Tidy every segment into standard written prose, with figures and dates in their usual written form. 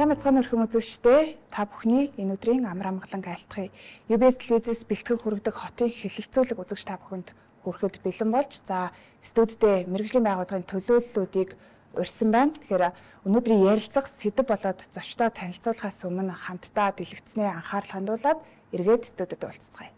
Сайн мэцхан өрхөм үзэгчдээ та бүхний энэ өдрийн амар амгалан айлтгая. UBS телевизээс бэлтгэн хүргэдэг хотын хэлэлцүүлэг үзэгч та бүхэнд хүрэхэд бэлэн болж студидээ мэргэжлийн байгууллагын төлөөллүүдийг урьсан байна. Тэгэхээр өнөөдрийн ярилцах сэдэв болоод зочдоо танилцуулахаас өмнө хамтдаа дэлгэцний анхаарал хандуулад эргээд студид уулзцгаая.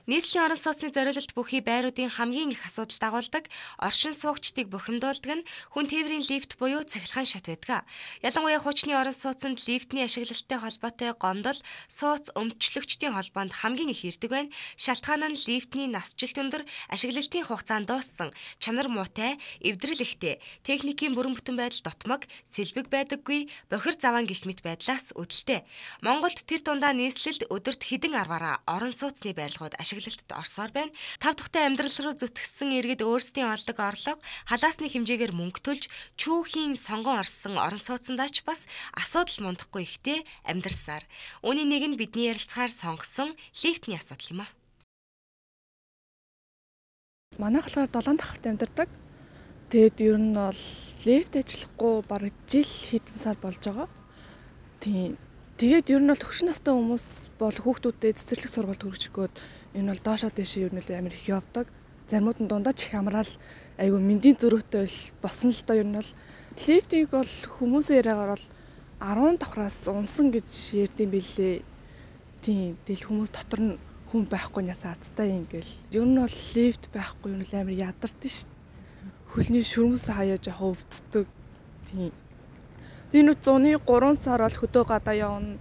Нийслэлийн орон сууцны зориулалт бүхий байруудын хамгийн их асуудал дагуулдаг оршин суугчдыг бухимдуулдаг нь хүн тээврийн лифт буюу цахилгаан шат байдаг. Ялангуяа хуучны орон сууцнд лифтний ашиглалттай холбоотой гомдол, сууц өмчлөгчдийн холбоонд хамгийн их ирдэг байна. Шалтгаан нь лифтний насжилт өндөр, ашиглалтын хугацаанд дууссан, чанар муутай, эвдрэл ихтэй, техникийн бүрэн бүтэн байдал дотмог, сэлбэг байдаггүй, бохир заваан гэх мэт байдлаас үүдэлтэй. Монголд тэр дундаа нийслэлд өдөрт хэдэн арваараа орон сууцны барилгууд ашиглалтад орсоор байна. Тав тухтай амьдрал руу зүтгэсэн иргэд өөрсдийн олдог орлого, халаасны хэмжээгээр мөнгө төлж, чүүхийн сонгон орсон орон сууцндаач бас асуудал мундахгүй ихтэй амьдарсаар. Үүний нэг нь бидний ярилцахаар сонгосон лифтний асуудал юм а. Манайх болохоор 7 давхарт амьдардаг. Тэгэд ер нь бол лифт ажиллахгүй бараг жил хэдэн сар болж байгаа. Тэгээд ер нь бол хөгшин настай хүмүүс бол хүүхдүүдэд цэцэрлэг сургалт хүргэж өгөөд энэ бол доошоо дэшээ ер нь амар их явдаг. Заримуд нь дундаж их амраал айгүй мэндийн зөрүүтэй босно л доо ер нь бол лифтийг бол хүмүүсийн яриагаар бол 10 давхраас унсан гэж ярьдсан билээ. Тэгэл хүмүүс дотор нь хүн байхгүй нясаа азтай ингээл. Ер нь бол лифт байхгүй ер нь амар ядардаг шүү. Хөлний шүрмэс хаяа жоохон өвддөг. Энэ 100-ны 3 сар бол хөдөө гадаа явна.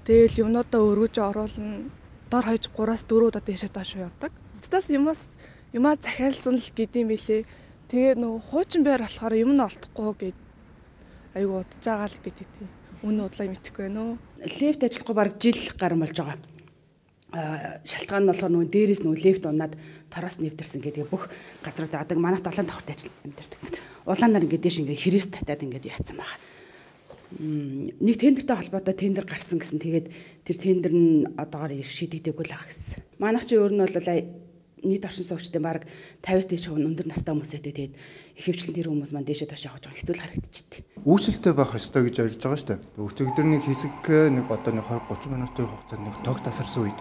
Тэгэл юмнуудаа өргөж оруулна. Дор хаяж 3-аас 4 удаа дэшээ доош явдаг. Цаас юмаа захиалсан л гэдэм билээ. Тэгээ нөгөө хуучин байр болохоор юм нь олдохгүй гэд айгу удаж байгаа л гэдэг тийм. Үнэ удлаа мэдэхгүй байна уу? Лифт ажиллахгүй бараг жил гарсан болж байгаа. Шалтгаан нь болохоор нөгөө дээрээс нөгөө лифт унаад тороос нэвтэрсэн гэдэг бүх газрууд аадаг. Манайх 7 давхарт амьдардаг. Улаанаар ингээд дэш ингээд хэрэгс татаад ингээд яатсан байгаа. Нэг тендертэй холбоотой тендер гарсан гэсэн. Тэгээд тэр тендер нь одоогоор шийдэгдээгүй л ах гэсэн. Манайх чи өөр нь бол нийт оршин суугчдын баг 50-аас дээш өндөр настай хүмүүс байдаг. Тэгээд их хвчлэн тэр хүмүүс маань дээшээ доош явж байгаа хэцүү л харагдчихтэй. Үүсэлтэй байх ёстой гэж ярьж байгаа шүү дээ. Өчигдөр нэг хэсэг нэг одоо нэг 20-30 минутын хугацаанд нэг тог тасарсан үед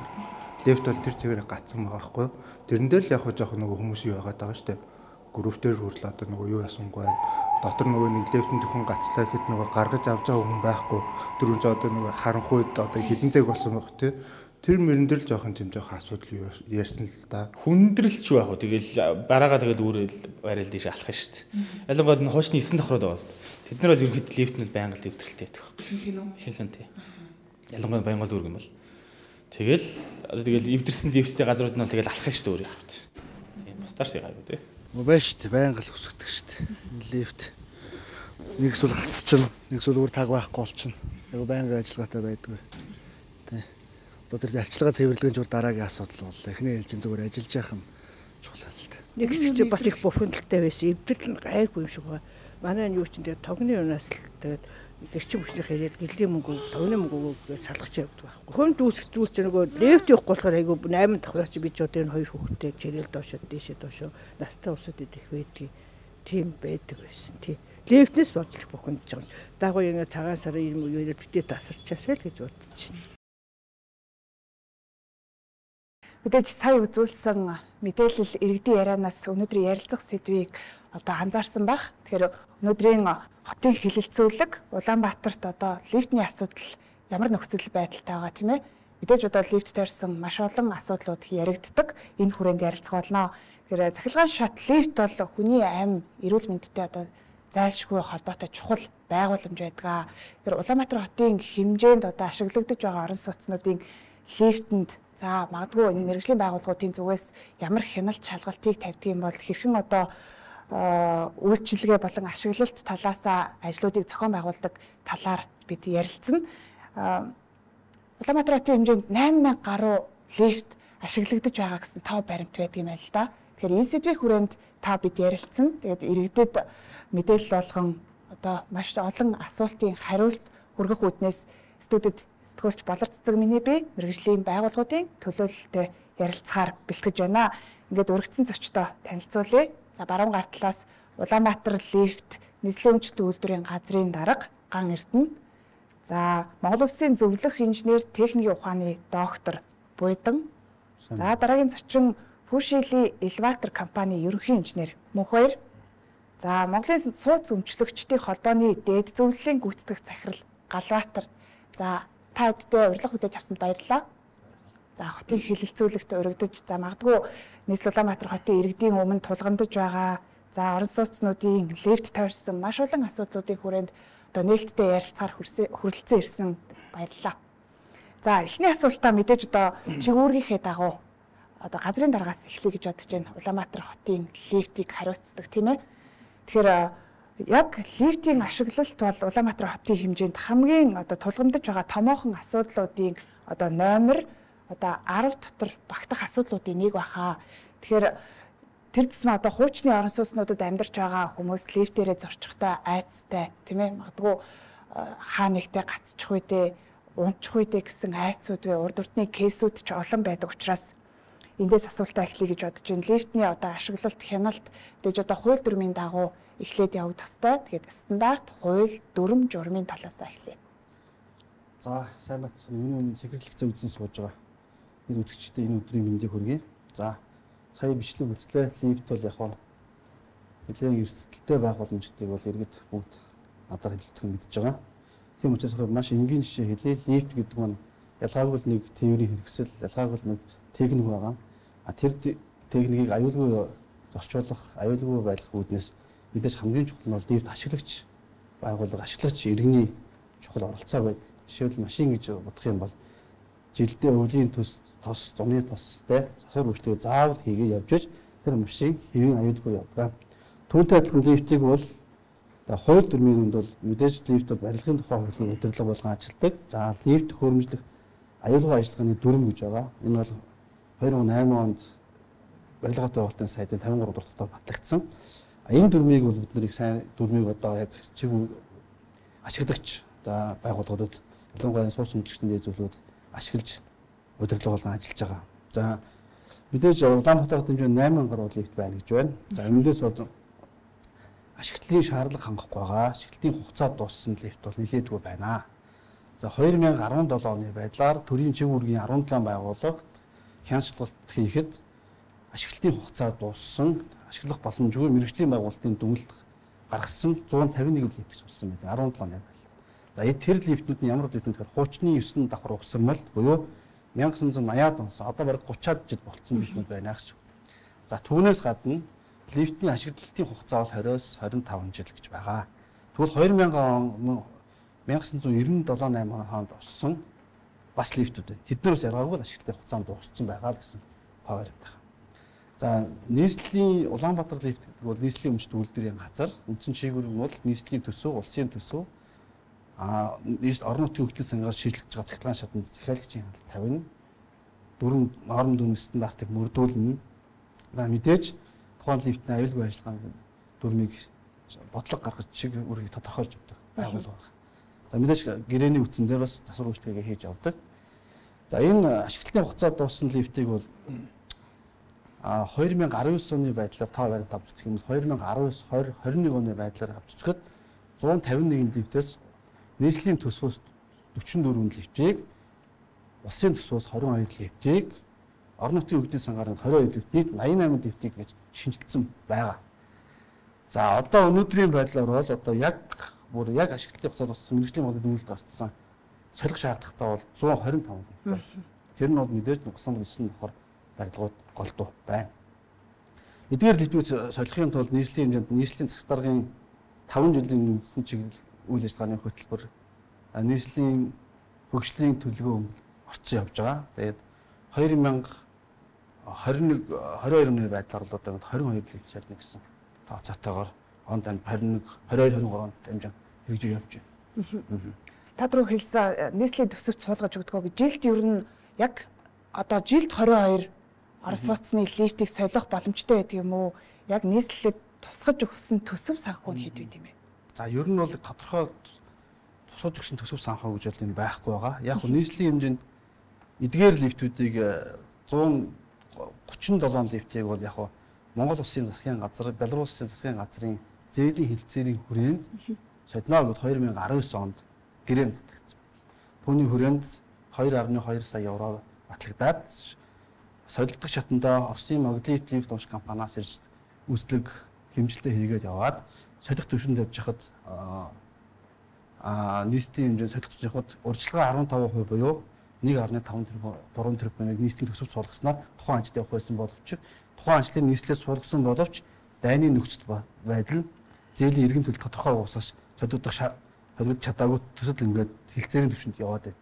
лифт бол тэр цэгээрээ гацсан байгаа байхгүй юу? Тэрэн дээр л яг жоох нөгөө хүмүүс юу яагаад байгаа шүү дээ. Группээр хүрл одоо нөгөө юу ясангүй байна. Дотор нөгөө нэг лифтэн төхөн гацлаа гэхэд нөгөө гаргаж авч байгаа хүн байхгүй. Тэр үн ч одоо нөгөө харанхуйд одоо хідэн цэг болсон байх тий. Тэр мөрөн дээр л жоохон тийм жоохон асуудал ярьсан л да. Хүндрэлч байх уу. Тэгэл бараагаа тэгэл үүрэл барайл дэше алах шүү дээ. Ялангуяа энэ хуучны 9 давхрууд байгаа шүү дээ. Тэд нар бол ерөөхдөө лифтнүүд байнга л дэвтрэлтэй байдаг байхгүй. Ихэнх тий. Ялангуяа байнга л үүрэг юм бол. Тэгэл одоо тэгэл эвдэрсэн лифттэй газрууд нь бол тэгэл алах шүү дээ өөр явахт. Тийм бустаарч байгаагүй тий. Мобайл шүү дээ, байнга л өсгдөг шүү дээ. Лифт нэг эсвэл гацчихна, нэг эсвэл өөр таг байхгүй болчихно. Яг байнга ажиллагаатай байдгүй. Тэ. Одоо тэр арчилгаа цэвэрлэгийн жур дараагийн асуудал боллоо. Эхний ээлжийн зүгээр ажиллаж яах нь чухал л та. Нэг хэсэг чи бас их бухимдалтай байсан. Эвдэл нь гайгүй юм шиг байна. Манай юу ч тэгээд тогны юунаас л тэгээд гэрчим хүчнийх яриад гэлдийн мөнгө, тогны мөнгө салгаж явдаг байхгүй. Хүн дүүсгүүл чи нөгөө лифт явахгүй болохоор айгүй 8 давхраач би ч одоо энэ хоёр хүүхэдтэй чирэл доошоо дээшээ доошоо настай усуд идэх байдгийг тийм байдаг байсан тий. Лифтнээс болж бухимдж байгаа. Дагуу ингэ цагаан сарын юм уу битээ тасарчаасаа л гэж бодож байна. Мэдээж сая үзүүлсэн мэдээлэл иргэдийн ярианаас өнөөдрийн ярилцах сэдвийг одоо анзаарсан байх. Тэгэхээр өнөөдрийн хотын хэлэлцүүлэг Улаанбаатарт одоо лифтний асуудал ямар нөхцөл байдалтай байгаа тийм ээ. Мэдээж одоо лифт таарсан маш олон асуудлууд яригддаг. Энэ хүрээнд ярилцах болно. Тэгэхээр цахилгаан шат лифт бол хүний амь эрүүл мэндтэй одоо зайлшгүй холбоотой чухал байгууламж байдаг. Тэгэхээр Улаанбаатар хотын хэмжээнд одоо ашиглагдаж байгаа орон сууцнуудын лифтэнд за магадгүй энэ мэргэжлийн байгууллагуудын зүгээс ямар хяналт шалгалтыг тавьдаг юм бол хэрхэн одоо үйлчилгээ болон ашиглалт талаасаа ажлуудыг зохион байгуулдаг талаар бид ярилцсан. Улаанбаатар хотын хэмжээнд 8000 гаруй лифт ашиглагдаж байгаа гэсэн тав баримт байдаг юм байна л да. Тэгэхээр энэ сэдвийн хүрээнд та бид ярилцсан. Тэгээд иргэдэд мэдээлэл болгон одоо маш олон асуултын хариулт хүргэх үүднээс студид сэтгүүлч Болор Цэцэг миний би мэргэжлийн байгууллагуудын төлөөлөлтөд ярилцахаар бэлтгэж байна. Ингээд урагдсан зочдоо танилцуулъя. За баруун гар талаас Улаанбаатар лифт нийслэлийн өмчлөлт үйлдвэрийн газрын дарга Ган Эрдэнэ. За Монгол Улсын зөвлөх инженер техникийн ухааны доктор Буйдан. За дараагийн зочин Пүшили элеватор компани ерөнхий инженер Мөнхбаяр. За Монголын сууц өмчлөгчдийн холбооны дээд зөвлөлийн гүйцэтгэх захирал Галбаатар. За та бүддээ урилга хүлээж авсанд баярлалаа. За хотын хилэлцүүлэгт урагдаж за магадгүй нийслэл Улаанбаатар хотын иргэдийн өмнө тулгамдж байгаа за орон сууцнуудын лифт тойрсон маш олон асуудлуудын хүрээнд одоо нээлттэй ярилцахаар хүрэлцэн ирсэн баярлалаа. За эхний асуултаа мэдээж одоо чигүүргийнхээ дагуу одоо газрын дараагаас эхлэе гэж бодож байна. Улаанбаатар хотын лифтийг хариуцдаг тийм ээ. Тэгэхээр яг лифтийн ашиглалт бол Улаанбаатар хотын хэмжээнд хамгийн одоо тулгамдж байгаа томоохон асуудлуудын одоо номер одоо 10 дотор багтах асуудлуудын нэг баха. Тэгэхээр тэр тусмаа одоо хуучны орон сууцнуудад амьдарч байгаа хүмүүс лифтээрээ зорчихтой айцтай тийм ээ. Магадгүй хаа нэгтэй гацчих үедээ унчих үедээ гэсэн айцуд вэ урд урдны кейсүүд ч олон байдаг учраас эндээс асуултаа эхлэе гэж бодож байна. Лифтний одоо ашиглалт хяналт тэгж одоо хууль дүрмийн дагуу эхлээд явагдах ёстой. Тэгээд стандарт хууль дүрм журмын талаас эхлэе. За сайн бацхан миний өмнө секретлэгцээ үзэн сууж байгаа. Бид үзэгчдээ энэ өдрийн мэндийг хүргэе. За сая бичлэг үзлээ. Лифт бол яг нь нэлээд эрсдэлтэй байх боломжтойг бол иргэд бүгд надаар хэлдэг нь мэдж байгаа. Тийм учраас маш энгийн жишээ хэлье. Лифт гэдэг нь ялгаагүй нэг тээврийн хэрэгсэл, ялгаагүй нэг техник байгаа. Тэр техникийг аюулгүй зорчуулах, аюулгүй байлгах үүднээс мэдээж хамгийн чухал нь бол лифт ашиглагч байгууллага, ашиглагч иргэний чухал оролцоо байдаг. Жишээлбэл машин гэж бодох юм бол жилдээ өвлийн тос, зуны тостой засвар үйлчлэгээ заавал хийгээ явж иж тэр машин хэвийн аюулгүй явдаг. Түүнтэй адилхан лифтийг бол хууль дүрмийн бол мэдээж лифт бол барилгын тухай хуулийн удирдлага болгон ажилладаг. За лифт хөрөмжлөх аюулгүй ажиллагааны дүрм гэж байгаа. Энэ бол 2008 онд барилгын байгуулалтын сайдын 53 дугаар дотор батлагдсан. Энэ дүрмийг бол бид нарыг сайн дүрмийг одоо яг чиг ашиглагч одоо байгууллагуудад ялангуяа сууц өмчлөгчдийн дэзүүлүүд ашиглаж удирдлага болгон ажиллаж байгаа. За мэдээж Улаанбаатар хотын хэмжээнд 8 гаруй лифт байна гэж байна. За энэндээс бол ашиглалтын шаардлага хангахгүй байгаа. Ашиглалтын хугацаа дууссан лифт бол нэлээдгүй байна. За 2017 оны байдлаар төрийн чиг үүргийн 17 байгууллага хяналталт хийхэд ашиглалтын хугацаа дууссан, ашиглах боломжгүй мэргэжлийн байгуулалтын дүгнэлт гаргасан 151 лифт гэж болсон байдаг 17 оны байдлаар. За тэр лифтүүд нь ямар лифт вэ гэхээр хуучны 9 давхар угсармал буюу 1980-ад онс одоо бараг 30-ад жил болцсон лифтүүд байна гэсэн. За түүнээс гадна лифтийн ашиглалтын хугацаа бол 20-с 25 жил гэж байгаа. Тэгвэл 1997-8 онд оссон бас лифтүүд байна. Тэднээс яргаагүй ашиглалтын хугацаанд дууссан байгаа л гэсэн павер юм байна. За нийслэлийн Улаанбаатар лифт гэдэг бол нийслэлийн өмчт үйлдвэрийн газар. Үндсэн чиглэл нь бол нийслэлийн төсөв, улсын төсөв, орон нутгийн хөгжлийн сангаар шийдлэгдэж байгаа цахилгаан шатанд захиалагчийн тавина, дүрм норм дүрм стандартыг мөрдүүлнэ. Мэдээж тухайн лифтний аюулгүй ажиллагааны дүрмийг бодлого гаргаж чиг үүргийг тодорхойлж өгдөг байгууллага байна. За мэдээж гэрээний үтсэн дээр бас засвар үйлчлэгээ хийж явдаг. За энэ ашиглалтын хугацаа дууссан лифтийг бол 2019 оны байдлаар тоо баримт авч үзэх юм бол 2019-2021 оны байдлаар авч үзэхэд 151 лифтээс нийслэлийн төсвөөс 44 лифтийг, улсын төсвөөс 22 лифтийг, орон нутгийн хөгжлийн сангарын 22 лифт, нийт 88 лифтийг гэж шинжилсэн байгаа. За одоо өнөөдрийн байдлаар бол одоо яг ашиглалтын хугацаа дууссан мэргэжлийн модод үйлдэл гарцсан солих шаардлагатай бол 125 лифт байна. Тэр нь бол мэдээж 39 давхар барилгууд голдуу байна. Эдгээр лифтүүд солихын тулд нийслэлийн хэмжээнд нийслэлийн засаг даргын 5 жилийн үндсэн чиглэл үйл ажиллагааны хөтөлбөр нийслэлийн хөгжлийн төлөвөө орцсон явж байгаа. Тэгээд 2022 оны байдлаар бол одоо 22 лифт шатна гэсэн тооцоотойгоор онд 22-23 онд хэмжээ хэрэгжиж явж байна. Та түрүү хэлсэн нийслэлийн төсөвт суулгаж өгдөг гэж жилд ер нь яг одоо жилд 22 орос сууцны лифтийг солих боломжтой байдаг юм уу? Яг нийслэлд тусгаж өгсөн төсөв санхүү нь хэд вэ тийм ээ? За ер нь бол тодорхой тусгаж өгсөн төсөв санхүү гэж бол юм байхгүй байгаа. Яг нь нийслэлийн хэмжээнд эдгээр лифтүүдийг 137 лифтийг бол яг Монгол Улсын засгийн газар, Беларусын засгийн газрын зээлийн хилцээрийн хүрээнд содноо гэд 2019 онд гэрээ батлагдсан. Түүний хүрээнд 2.2 сая евро батлагдаад солилцох шатндаа Оросын Moglif лифт унш компаниас ирж үүслэг хэмжилтээ хийгээд яваад солих төвшөнд явж хахад нийтийн хэмжээ солих төвшөнд урьдчилгаа 15% буюу 1.5 3 тэрбумыг нийслэлийн төсөвт суулгаснаар тухайн ажилд явах байсан боловч тухайн ажлын нийслэлээс суулгасан боловч дайны нөхцөл байдал нь зээлийн иргэн төлөлт тодорхой уусаас солиодох чадаагүй төсөл ингээд хилцээрийн төвшөнд яваад байна.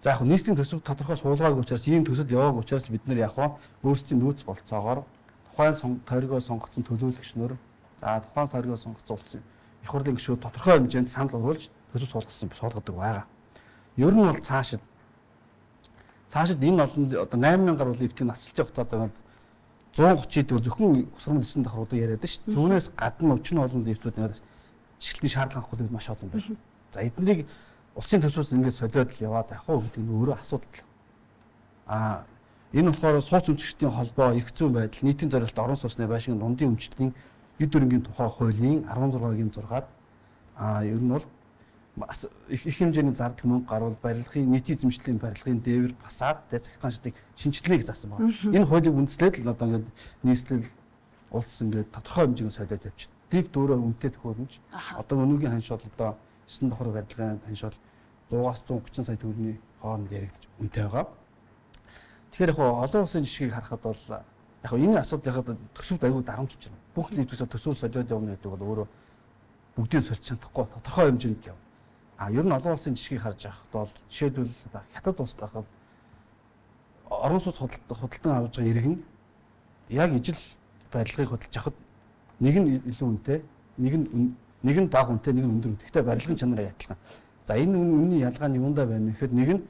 За яг нийслэлийн төсөв тодорхой суулгаагүй учраас ийм төсөл яваагүй учраас бид нэр яг өөрсдийн нөөц болцоогоор тухайн тойргоо сонгогдсон төлөөлөгчнөр тухайн тойргоо сонгогдсон улсын их хурлын гишүүд тодорхой хэмжээнд санал оруулж төсөв суулгадаг байгаа. Ер нь бол цаашид энэ олон одоо 8000 гаруй лифтийн насжилж явах цаад 130-д зөвхөн усрын төсөнд давхруудаа яриад шүү дээ. Түүнээс гадна өчнө олон лифтүүд нэг ашиглалтын шаардлага хөлөд маш олон байна. За эднийг улсын төсвөөс ингээд солиод л яваад явах уу гэдэг нь өөрөө асуудал. Энэ болохоор сууц өмчгчдийн холбоо, эрх зүйн байдал, нийтийн зорилт, орон сууцны байшин, дундын өмчлөлийн эд хөрөнгийн тухай хуулийн 16-гийн 6-ад ер нь бол их хэмжээний зардаг мөнгө гарвал барилгын нийтийн эзэмшлийн барилгын дээвэр фасад захиргаан шатыг шинжилнэ гэж заасан байна. Энэ хуулийг үндэслээд л одоо ингээд нийслэл улс ингээд тодорхой хэмжээгээр солиод явчих. Дэв дөрөв үнэтэй төхөөрөмж одоо өнөөгийн ханшуул одоо 9 давхар барилгын ханшуул 100-аас 130 сая төгрөгийн хооронд яригдж үнэтэй байгаа. Тэгэхээр яг олон улсын жишгийг харахад бол яг энэ асуудал ярихад төсөвд аягүй дарамтж байна. Бүх лифтээс төсөв солиод явна гэдэг бол өөрөө бүгдийг сольж чадахгүй тодорхой хэмжээнд яв. Ер нь олон улсын жишгийг харж байхад бол жишээлбэл хятад улсад байхад орон сууц худалдан авж байгаа иргэн яг ижил барилгыг худалдаж авахд нэг нь илүү үнэтэй, нэг нь бага үнэтэй, нэг нь өндөр үнэтэй. Гэхдээ барилгын чанараа адилхан. За энэ үнийн ялгаа нь юундаа байна гэхээр нэг нь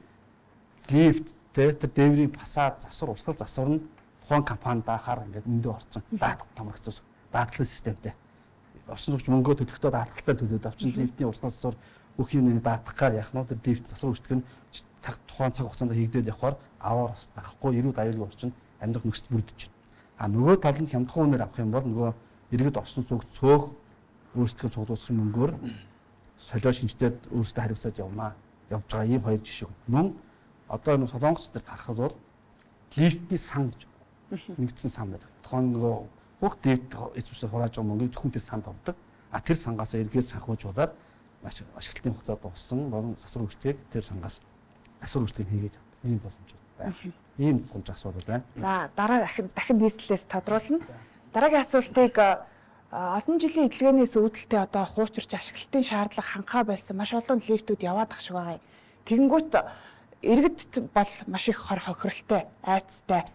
лифт тэр дээврийн фасад засвар урсгал засвар нь тухайн компани даахаар ингээд өндөө орцсон даатгал тамрагцсан даатгалын системтэй. Орчин суугч мөнгөө төлөхдөө даатгалтай төлөөд авчин лифтийн урсгал засвар бүх юмны даатгахаар яах нь тэр лифт засвар үүсгэх нь тухайн цаг хугацаанд хийгдээд явахаар аваар бас дарахгүй эрүүл аюулгүй орчин амьдрах нөхцөл бүрдэж байна. Нөгөө тал нь хямдхан үнээр авах юм бол нөгөө иргэд орчин суугч цөөх өөрсдөө цуглуулсан мөнгөөр солио шинжлээд өөрсдөө хариуцаад явж байгаа ийм хоёр жишээ. Мөн одоо энэ Солонгос дээр харахад бол лифтний сан гэж нэгдсэн сан байдаг. Тухайн нөгөө бүх лифт эсвэсээр хурааж байгаа мөнгөийг зөвхөн тэр санд авдаг. Тэр сангаас эргээд санхүүжуулаад ашиглалтын хугацаа дууссан болон засвар үүсгээг тэр сангаас засвар үүсгэг хийгээд ийм боломжууд байна. Ийм боломж асуудал байна. За дараа дахин нийслэлээс тодруулна. Дараагийн асуултыг олон жилийн эдлэгээс үүдэлтэй одоо хуучирч ашиглалтын шаардлага хангахаа болсон маш олон лифтүүд яваад ах шиг байгаа. Тэгэнгүүт иргэдд бол маш их хор хохиролтой, айцтай.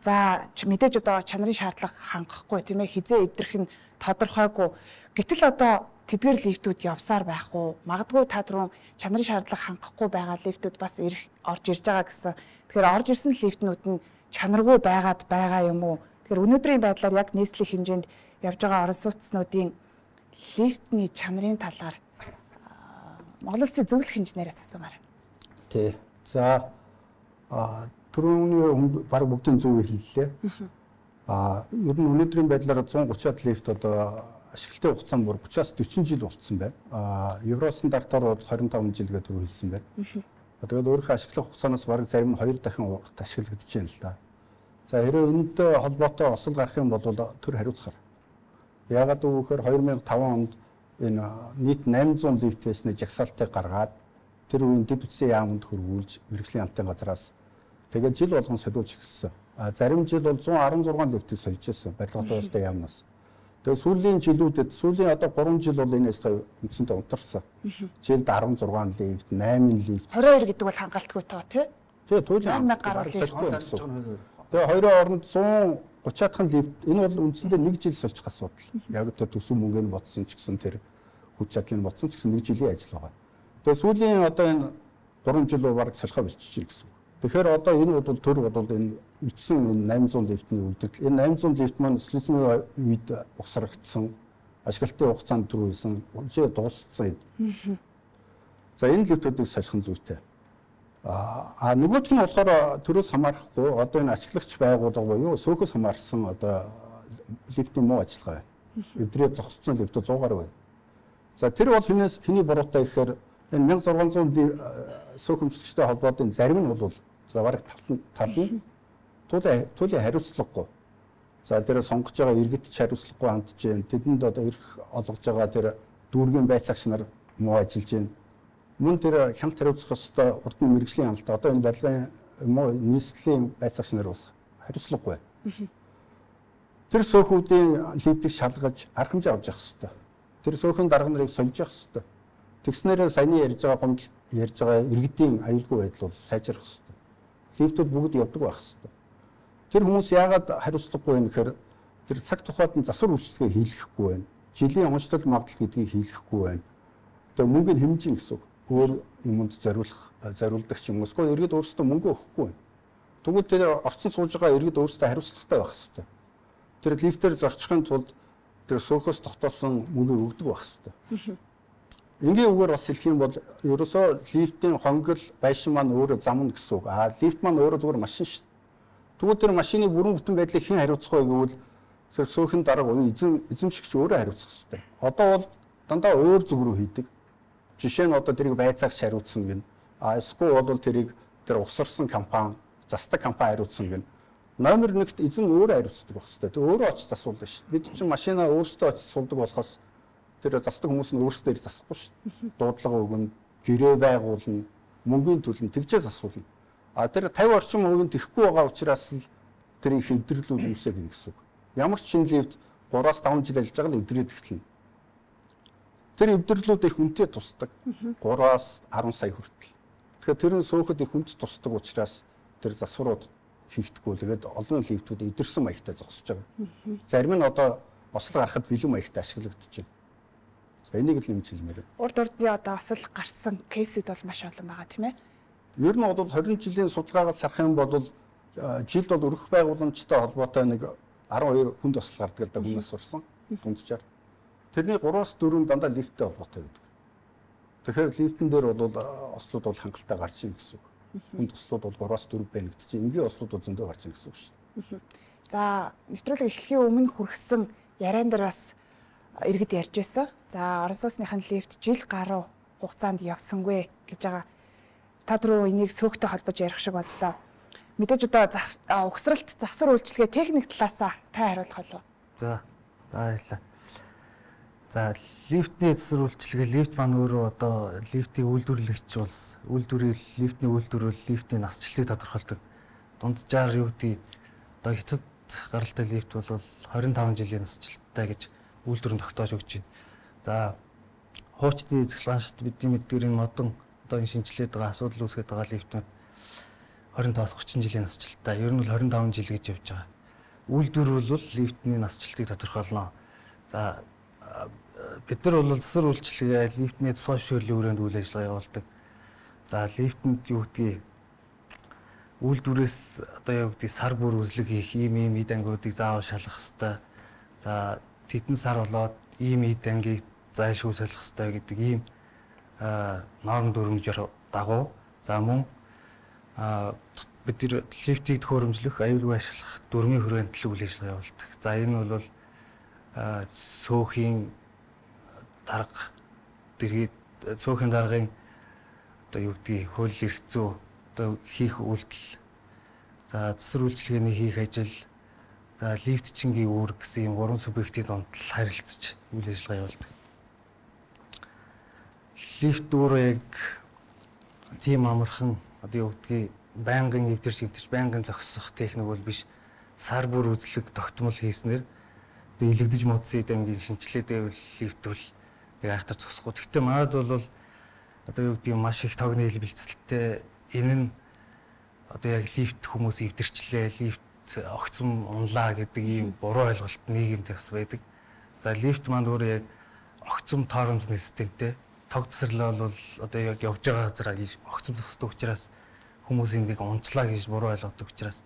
За мэдээж одоо чанарын шаардлага хангахгүй тийм ээ хизээ эвдэрх нь тодорхойгүй. Гэтэл одоо тэдгээр лифтүүд явсаар байх уу? Магадгүй та түрүүн чанарын шаардлага хангахгүй байгаа лифтүүд бас орж ирж байгаа гэсэн. Тэгэхээр орж ирсэн лифтнүүд нь чанаргүй байгаад байгаа юм уу? Тэгэхээр өнөөдрийн байдлаар яг нийслэлийн хэмжээнд явж байгаа орон сууцнуудын лифтний чанарын талаар Монгол Улсын зөвлөх инженераас асуумаар. Тий. За түрүүний баг бүгдийн зөв хэллээ. Ер нь өнөөдрийн байдлаар 130-аад лифт одоо ашиглалтын хугацаа бүр 30-аас 40 жил болцсон байна. Евро стандартаар бол 25 жил гэдэг түрүү хэлсэн байна. Тэгээд өөрийнхөө ашиглах хугацаанаас бараг зарим нь 2 дахин урт ашиглагдаж байна л да. За хэрэг энэтэй холбоотой осол гарах юм бол төр хариуцахаар. Яагаад гэвэл 2005 онд энэ нийт 800 лифт байсны жагсаалтыг гаргаад тэр үеийн дэд үтсийн яамд хөрвүүлж мэрэгжлийн амтын газраас тэгээд жил болгон солиулж эхэлсэн. Зарим жил бол 116 лифтийг сольж ирсэн барилга туулалтын яамнаас. Тэгээд сүүлийн жилүүдэд сүүлийн одоо 3 жил бол энэс үндсэндээ унтарсан. Жилд 16 лифт, 8 лифт. 22 гэдэг бол хангалтгүй тоо тий? Тэгээд туйлын гарал солихгүй гэсэн. Тэгээ хоёрын оронд 130-аад лифт энэ бол үндсэндээ 1 жил сольчих асуудал. Яг тэр төсөв мөнгөний бодсон ч гэсэн тэр хүч чадлын бодсон ч гэсэн 1 жилийн ажил байгаа. Тэгээ сүүлийн одоо энэ 3 жил баг солихоо болчихж байна гэсэн. Тэгэхээр одоо энэ бол төр бол энэ үлдсэн 800 лифтний үлдэл. Энэ 800 лифт маань социализмын үед угсрагдсан ашиглалтын хугацаанд түрүүлсэн үжээ дууссан. За энэ лифтүүдийг солих нь зүйтэй. Нөгөөх нь болохоор төрөөс хамаарахгүй одоо энэ ашиглагч байгууллага буюу сөөхөс хамаарсан одоо лифтийн муу ажиллагаа байна. Эвдрээ зогссон лифт 100 гаруй байна. За тэр бол хэний буруутай гэхээр энэ 1600 сөөхөмжлөгчтэй холбоотын зарим нь бол за бараг тал нь туйлын хариуцлагагүй. За тэр сонгож байгаа иргэдч хариуцлагагүй хандж байна. Тэдэнд одоо эрх олгож байгаа тэр дүүргийн байцаагч нар муу ажиллаж байна. Мөн тэр хяналт хариуцах ёстой урд нь мэрэгжлийн хяналт одоо энэ барилгын муу нийслэлийн байцаагч нар бас хариуцлагагүй байна. Тэр сөөхүүдийн лифтийг шалгаж арга хэмжээ авч явах ёстой. Тэр сөөхөн дарга нарыг сольж явах ёстой. Тэгснээрээ саяны ярьж байгаа иргэдийн аюулгүй байдал бол сайжрах ёстой. Лифтүүд бүгд явдаг байх ёстой. Тэр хүмүүс яагаад хариуцлагагүй вэ гэхээр тэр цаг тухайд нь засвар үйлчлэгээ хийлгэхгүй байна. Жилийн онцлог магадлал гэдгийг хийлгэхгүй байна. Тэгээ мөнгөний хэмжин гэсэн үг. Өөр юмд зориулдаг ч юм уу. Эсвэл иргэд өөрсдөө мөнгө өгөхгүй байна. Тэгвэл тэр орцсон сууж байгаа иргэд өөрсдөө хариуцлагатай байх ёстой. Тэр лифтээр зорчихын тулд тэр сөөхөөс тогтоосон мөнгө өгдөг байх ёстой. Энгийн үгээр бас хэлэх юм бол ерөөсөө лифтийн хонгол байшин маань өөрөө замна гэсэн үг. Лифт маань өөрөө зүгээр машин шүү дээ. Тэгвэл тэр машины бүрэн бүтэн байдлыг хэн хариуцах вэ гэвэл тэр сөөхөн дарга буюу эзэмшигч өөрөө хариуцах ёстой. Одоо бол дандаа өөр зүг рүү хийдэг. Жишээ нь одоо тэрийг байцаагч хариуцсан гин. Эсвэл бол тэрийг тэр усарсан компани, застаг компани хариуцсан гин. Номер 1-т эзэн өөрөө хариуцдаг байх ёстой. Тэг өөрөө очиж засуулдаг шүү дээ. Бид чинь машинаа өөрсдөө очиж суулдаг болохоос тэр застаг хүмүүс нь өөрсдөө засахгүй шүү дээ. Дуудлага өгнө, гэрээ байгуулна, мөнгөний төлн тэгжээ засуулна. Тэр 50 орчим хувийн тэхгүй байгаа учраас л тэр их өдөрлүүд үүсэх юм гэсэн үг. Ямар ч шинэ лифт 3-5 жил ажиллаж байгаа л өдрөөд эхэлнэ. Тэр өдөрлүүд их үнэтэй тусдаг. 3-10 сая хүртэл. Тэгэхээр тэр нь сөөхөд их үнэт тусдаг учраас тэр засварууд хийхдэггүй. Тэгээд олон лифтүүд өдөрсөн маягтай зогсож байгаа. Зарим нь одоо ослог гарахад бэлэн маягтай ашиглагдаж байна. За энийг л нэмж хэлмээр. Урд урдны одоо осол гарсан кейсүүд бол маш олон байгаа тийм ээ. Ер нь бол 20 жилийн судалгаагаас харах юм бол жилд бол өргөх байгууламжтай холбоотой нэг 12 хүнд осол гардаг гэдэг хүмүүс сурсан дундчаар. Тэрний 3-4 дандаа лифттэй холбоотой гэдэг. Тэгэхээр лифтэн дээр бол ослууд бол хангалттай гарч ийн гэсэн үг. Хүнд ослууд бол 3-4 байна гэдэг чинь энгийн ослууд бол зөндөө гарч ийн гэсэн үг шүү дээ. За нэвтрүүлэг эхлэхийн өмнө хүргэсэн яриан дээр бас иргэд ярьж байсан. За орон сууцныхын лифт жил гаруй хугацаанд явсангүй гэж байгаа. Та түрүү энийг сөөхтэй холбож ярих шиг боллоо. Мэдээж одоо угсралт засвар үйлчилгээ техник талаасаа та хариулах болов. За баярлалаа. За лифтний засвар үйлчилгээ лифт маань өөрөө одоо лифтийг үйлдвэрлэгч улс лифтний үйлдвэрлэл лифтийн насжилтыг тодорхойлдог. Дунджаар юу гэдэг одоо хятад гаралтай лифт бол 25 жилийн насжилттай гэж үйлдвэрэн тогтоож өгч байна. За хуучны цэглэгааншд бидний мэддгээр энэ модон одоо энэ шинжилээд байгаа асуудал үүсгэж байгаа лифтнүүд 25-30 жилийн насжилттай. Ер нь бол 25 жил гэж явж байгаа. Үйлдвэр бол лифтний насжилтыг тодорхойлно. За бид нар бол засвар үйлчилгээ лифтний тусгай зөвшөөрлийн хүрээнд үйл ажиллагаа явуулдаг. За лифтэнд юу гэдгийг үйлдвэрээс одоо юу гэдгийг сар бүр үзлэг хийх ийм эд ангиудыг заавал шалгах ёстой. За тэдэн сар болоод ийм эд ангийг зайлшгүй солих ёстой гэдэг ийм норм дүрмжээр дагуу. За мөн бид тэр лифтийг төхөөрөмжлөх, аюулгүй ашиглах дүрмийн хүрээнд л үйл ажиллагаа явуулдаг. За энэ бол сөөхийн дарга дэргэд сөөхийн даргын одоо юу гэдгийг хууль эрх зүй одоо хийх үйлдэл. За засвар үйлчилгээний хийх ажил. За лифтчингийн үүрэг гэсэн юм 3 субъектийн донд харилцаж үйл ажиллагаа явуулдаг. Лифт өөрөө яг тийм амархан одоо юу гэдгийг байнгын эвдэрч байнгын зогсох техник бол биш. Сар бүр үзлэг тогтмол хийснээр илэгдэж муудсан ангийн шинжилгээ дэвэл лифт бол яг айхтар зогсохгүй. Гэхдээ манайд бол одоо юу гэдгийг маш их тогны хил бэлцэлтэй энэ нь одоо яг лифт хүмүүс эвдэрчлээ, лифт огцом унлаа гэдэг ийм буруу ойлголт нийгэмд бас байдаг. За лифт маань өөрөө яг огцом тоормзны системтэй. Тог засварлал бол одоо яг явж байгаа газараа огцом зогсдог учраас хүмүүс энийг унцлаа гэж буруу ойлгодог учраас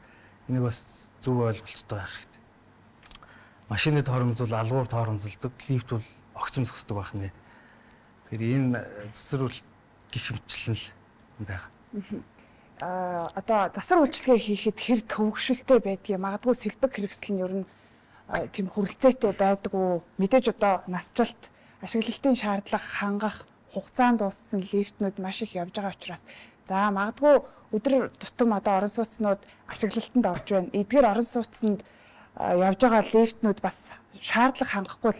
энийг бас зөв ойлголттой байх хэрэгтэй. Машины тоормзол алгуур тоормзолдог, лифт бол огцом зогсдог байх нэ. Тэгэхээр энэ засвар гэх мэтчлэн байгаа. Одоо засвар үйлчилгээ хийхэд хэр төвөгшөлтэй байдгийг магадгүй сэлбэг хэрэгсэл нь ер нь тийм хүрэлцээтэй байдгүй. Мэдээж одоо насжилт ашиглалтын шаардлага хангах хугацаанд дууссан лифтнүүд маш их явж байгаа учраас за магадгүй өдөр тутам одоо орон сууцнууд ашиглалтанд орж байна. Эдгээр орон сууцнд явж байгаа лифтнүүд бас шаардлага хангахгүй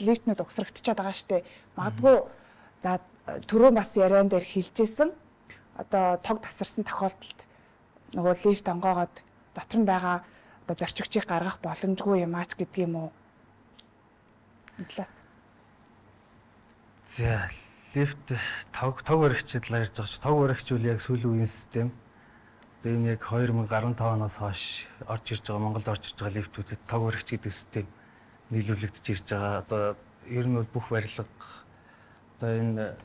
лифтнүүд угсрагдчихад байгаа штэ. Магадгүй за түрүү бас яриан дээр хэлжсэн одоо тог тасарсан тохиолдолд нөгөө лифт онгоогоод дотор нь байгаа одоо зорчигчийг гаргах боломжгүй юм аач гэдэг юм уу? Эдлээс. За лифт тог баригчид талаар ярьж байгаа ч тог баригч үл яг сүүлийн үеийн систем. Одоо энэ яг 2015 оноос хойш орж ирж байгаа Монголд орж ирж байгаа лифтүүдэд тог баригч гэдэг систем нийлүүлэгдэж ирж байгаа. Одоо ер нь бүх барилга одоо энэ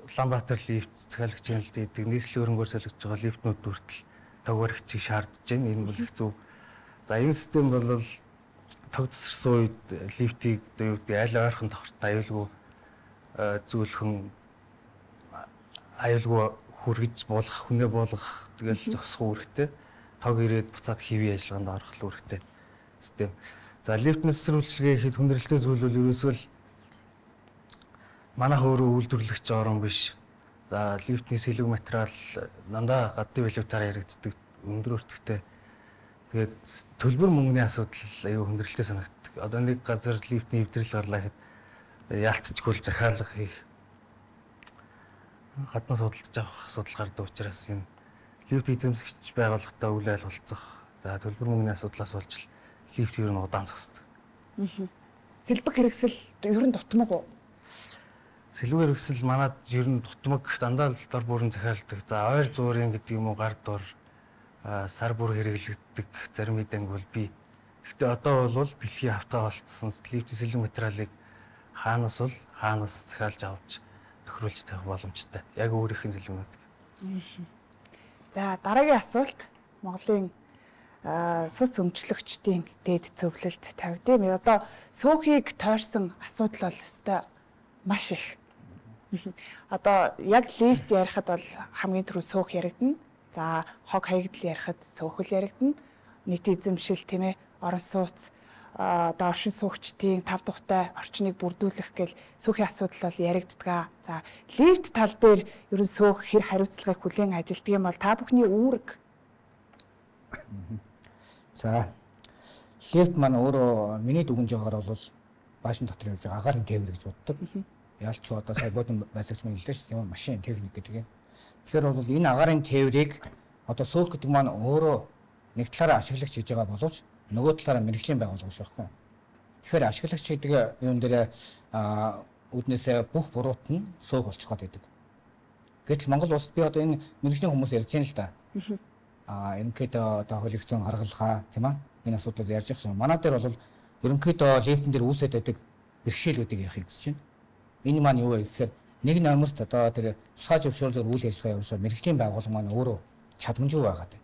Улаанбаатар лифт захиалагчийн хэлдэг нийслэлийн хөрөнгөөр солигдож байгаа лифтнүүд хүртэл тог баригчийг шаардж байна. Энэ бол их зөв. За энэ систем бол тог тасарсан үед лифтийг одоо юу гэдэг аль ойрхон тохортой аюулгүй зөөлхөн аюулгүй хүргэж буулгах, хүнээ буулгах тэгэл зогсох үүрэгтэй. Тог ирээд буцаад хэвийн ажиллагаанд орох үүрэгтэй систем. За лифтнес сэрүүлчилгээ хийхэд хүндрэлтэй зүйл бол ерөөсөө л манайх өөрөө үйлдвэрлэгч орон биш. За лифтний сэлэг материал дандаа гадны валютаар яригддаг, өндөр өртөгтэй. Тэгээд төлбөр мөнгөний асуудал аюу хүндрэлтэй санагддаг. Одоо нэг газар лифтний эвдрэл гарлаа гэхэд яалтчгүй захиалга хийх гаднаас судалж авах асуудал гардаг учраас энэ лифт эзэмсэгч байгууллагатай үйл ойлголцох. За төлбөр мөнгөний асуудлаас болж лифт ер нь удаан зогсдог. Сэлбэг хэрэгсэл ер нь дутмаг уу? Сэлбэг хэрэгсэл манад ер нь дутмаг дандаа л дор бүрэн захиалдаг. За ойр зуурын гэдэг юм уу гар дор сар бүр хэрэглэгддэг зарим хэдэн бол би. Гэхдээ одоо бол дэлхийн хавтаа болцсон лифтийн сэлэг материалыг хаанаас захиалж авч тохируулж тавих боломжтой. Яг өөрийнх нь сэлгэнүүд. За дараагийн асуулт Монголын суц өмчлөгчдийн дээд зөвлөлд тавьдığım. Одоо сөөхийг тойрсон асуудал бол өстой маш их. Одоо яг лифт ярихад бол хамгийн түрүү сөөх яригдана. За хог хаягдл ярихад сөөхөл яригдана. Нийт эзэмшил тийм ээ орон сууц одоо оршин суугчдын тав тухтай орчныг бүрдүүлэх гэл сөөхийн асуудал бол яригддаг. За лифт тал дээр ерөн сөөх хэр хариуцлагыг хүлээн ажилтдаг юм бол та бүхний үүрэг. За лифт маань өөрөө миний дүгнж байгаагаар бол баашин дотор явж байгаа агаарын тээвэр гэж боддог. Яалч одоо сая бодон байсагч маань хэлдэг шүү дээ машин техник гэдэг юм. Тэгэхээр бол энэ агаарын тээврийг одоо сөөх гэдэг маань өөрөө нэг талаараа ашиглагч хийж байгаа боловч нөгөө талаараа мэрэгжлийн байгууллага шүү байхгүй. Тэгэхээр ашиглагч гэдэг юм дээр үднээсээ бүх буруут нь сөөх болчих гээд байдаг. Гэтэл Монгол улсад би одоо энэ мэрэгжлийн хүмүүс ярьж байна л да. Ерөнхийдөө одоо хууль зүйн гаргалгаа тийм аа энэ асуудлыг ярьж байгаа юм. Манай дээр бол ерөнхийдөө лифтэн дээр үүсээд байдаг бэрхшээлүүдийг ярихыг хүсэж байна. Энэ маань юу вэ гэхээр нэг номерт одоо тэр тусгай зөвшөөрлөөр үйл ажиллагаа явуулсан мэрэгжлийн байгууллага маань өөрөө чадамжгүй байгаа гэдэг.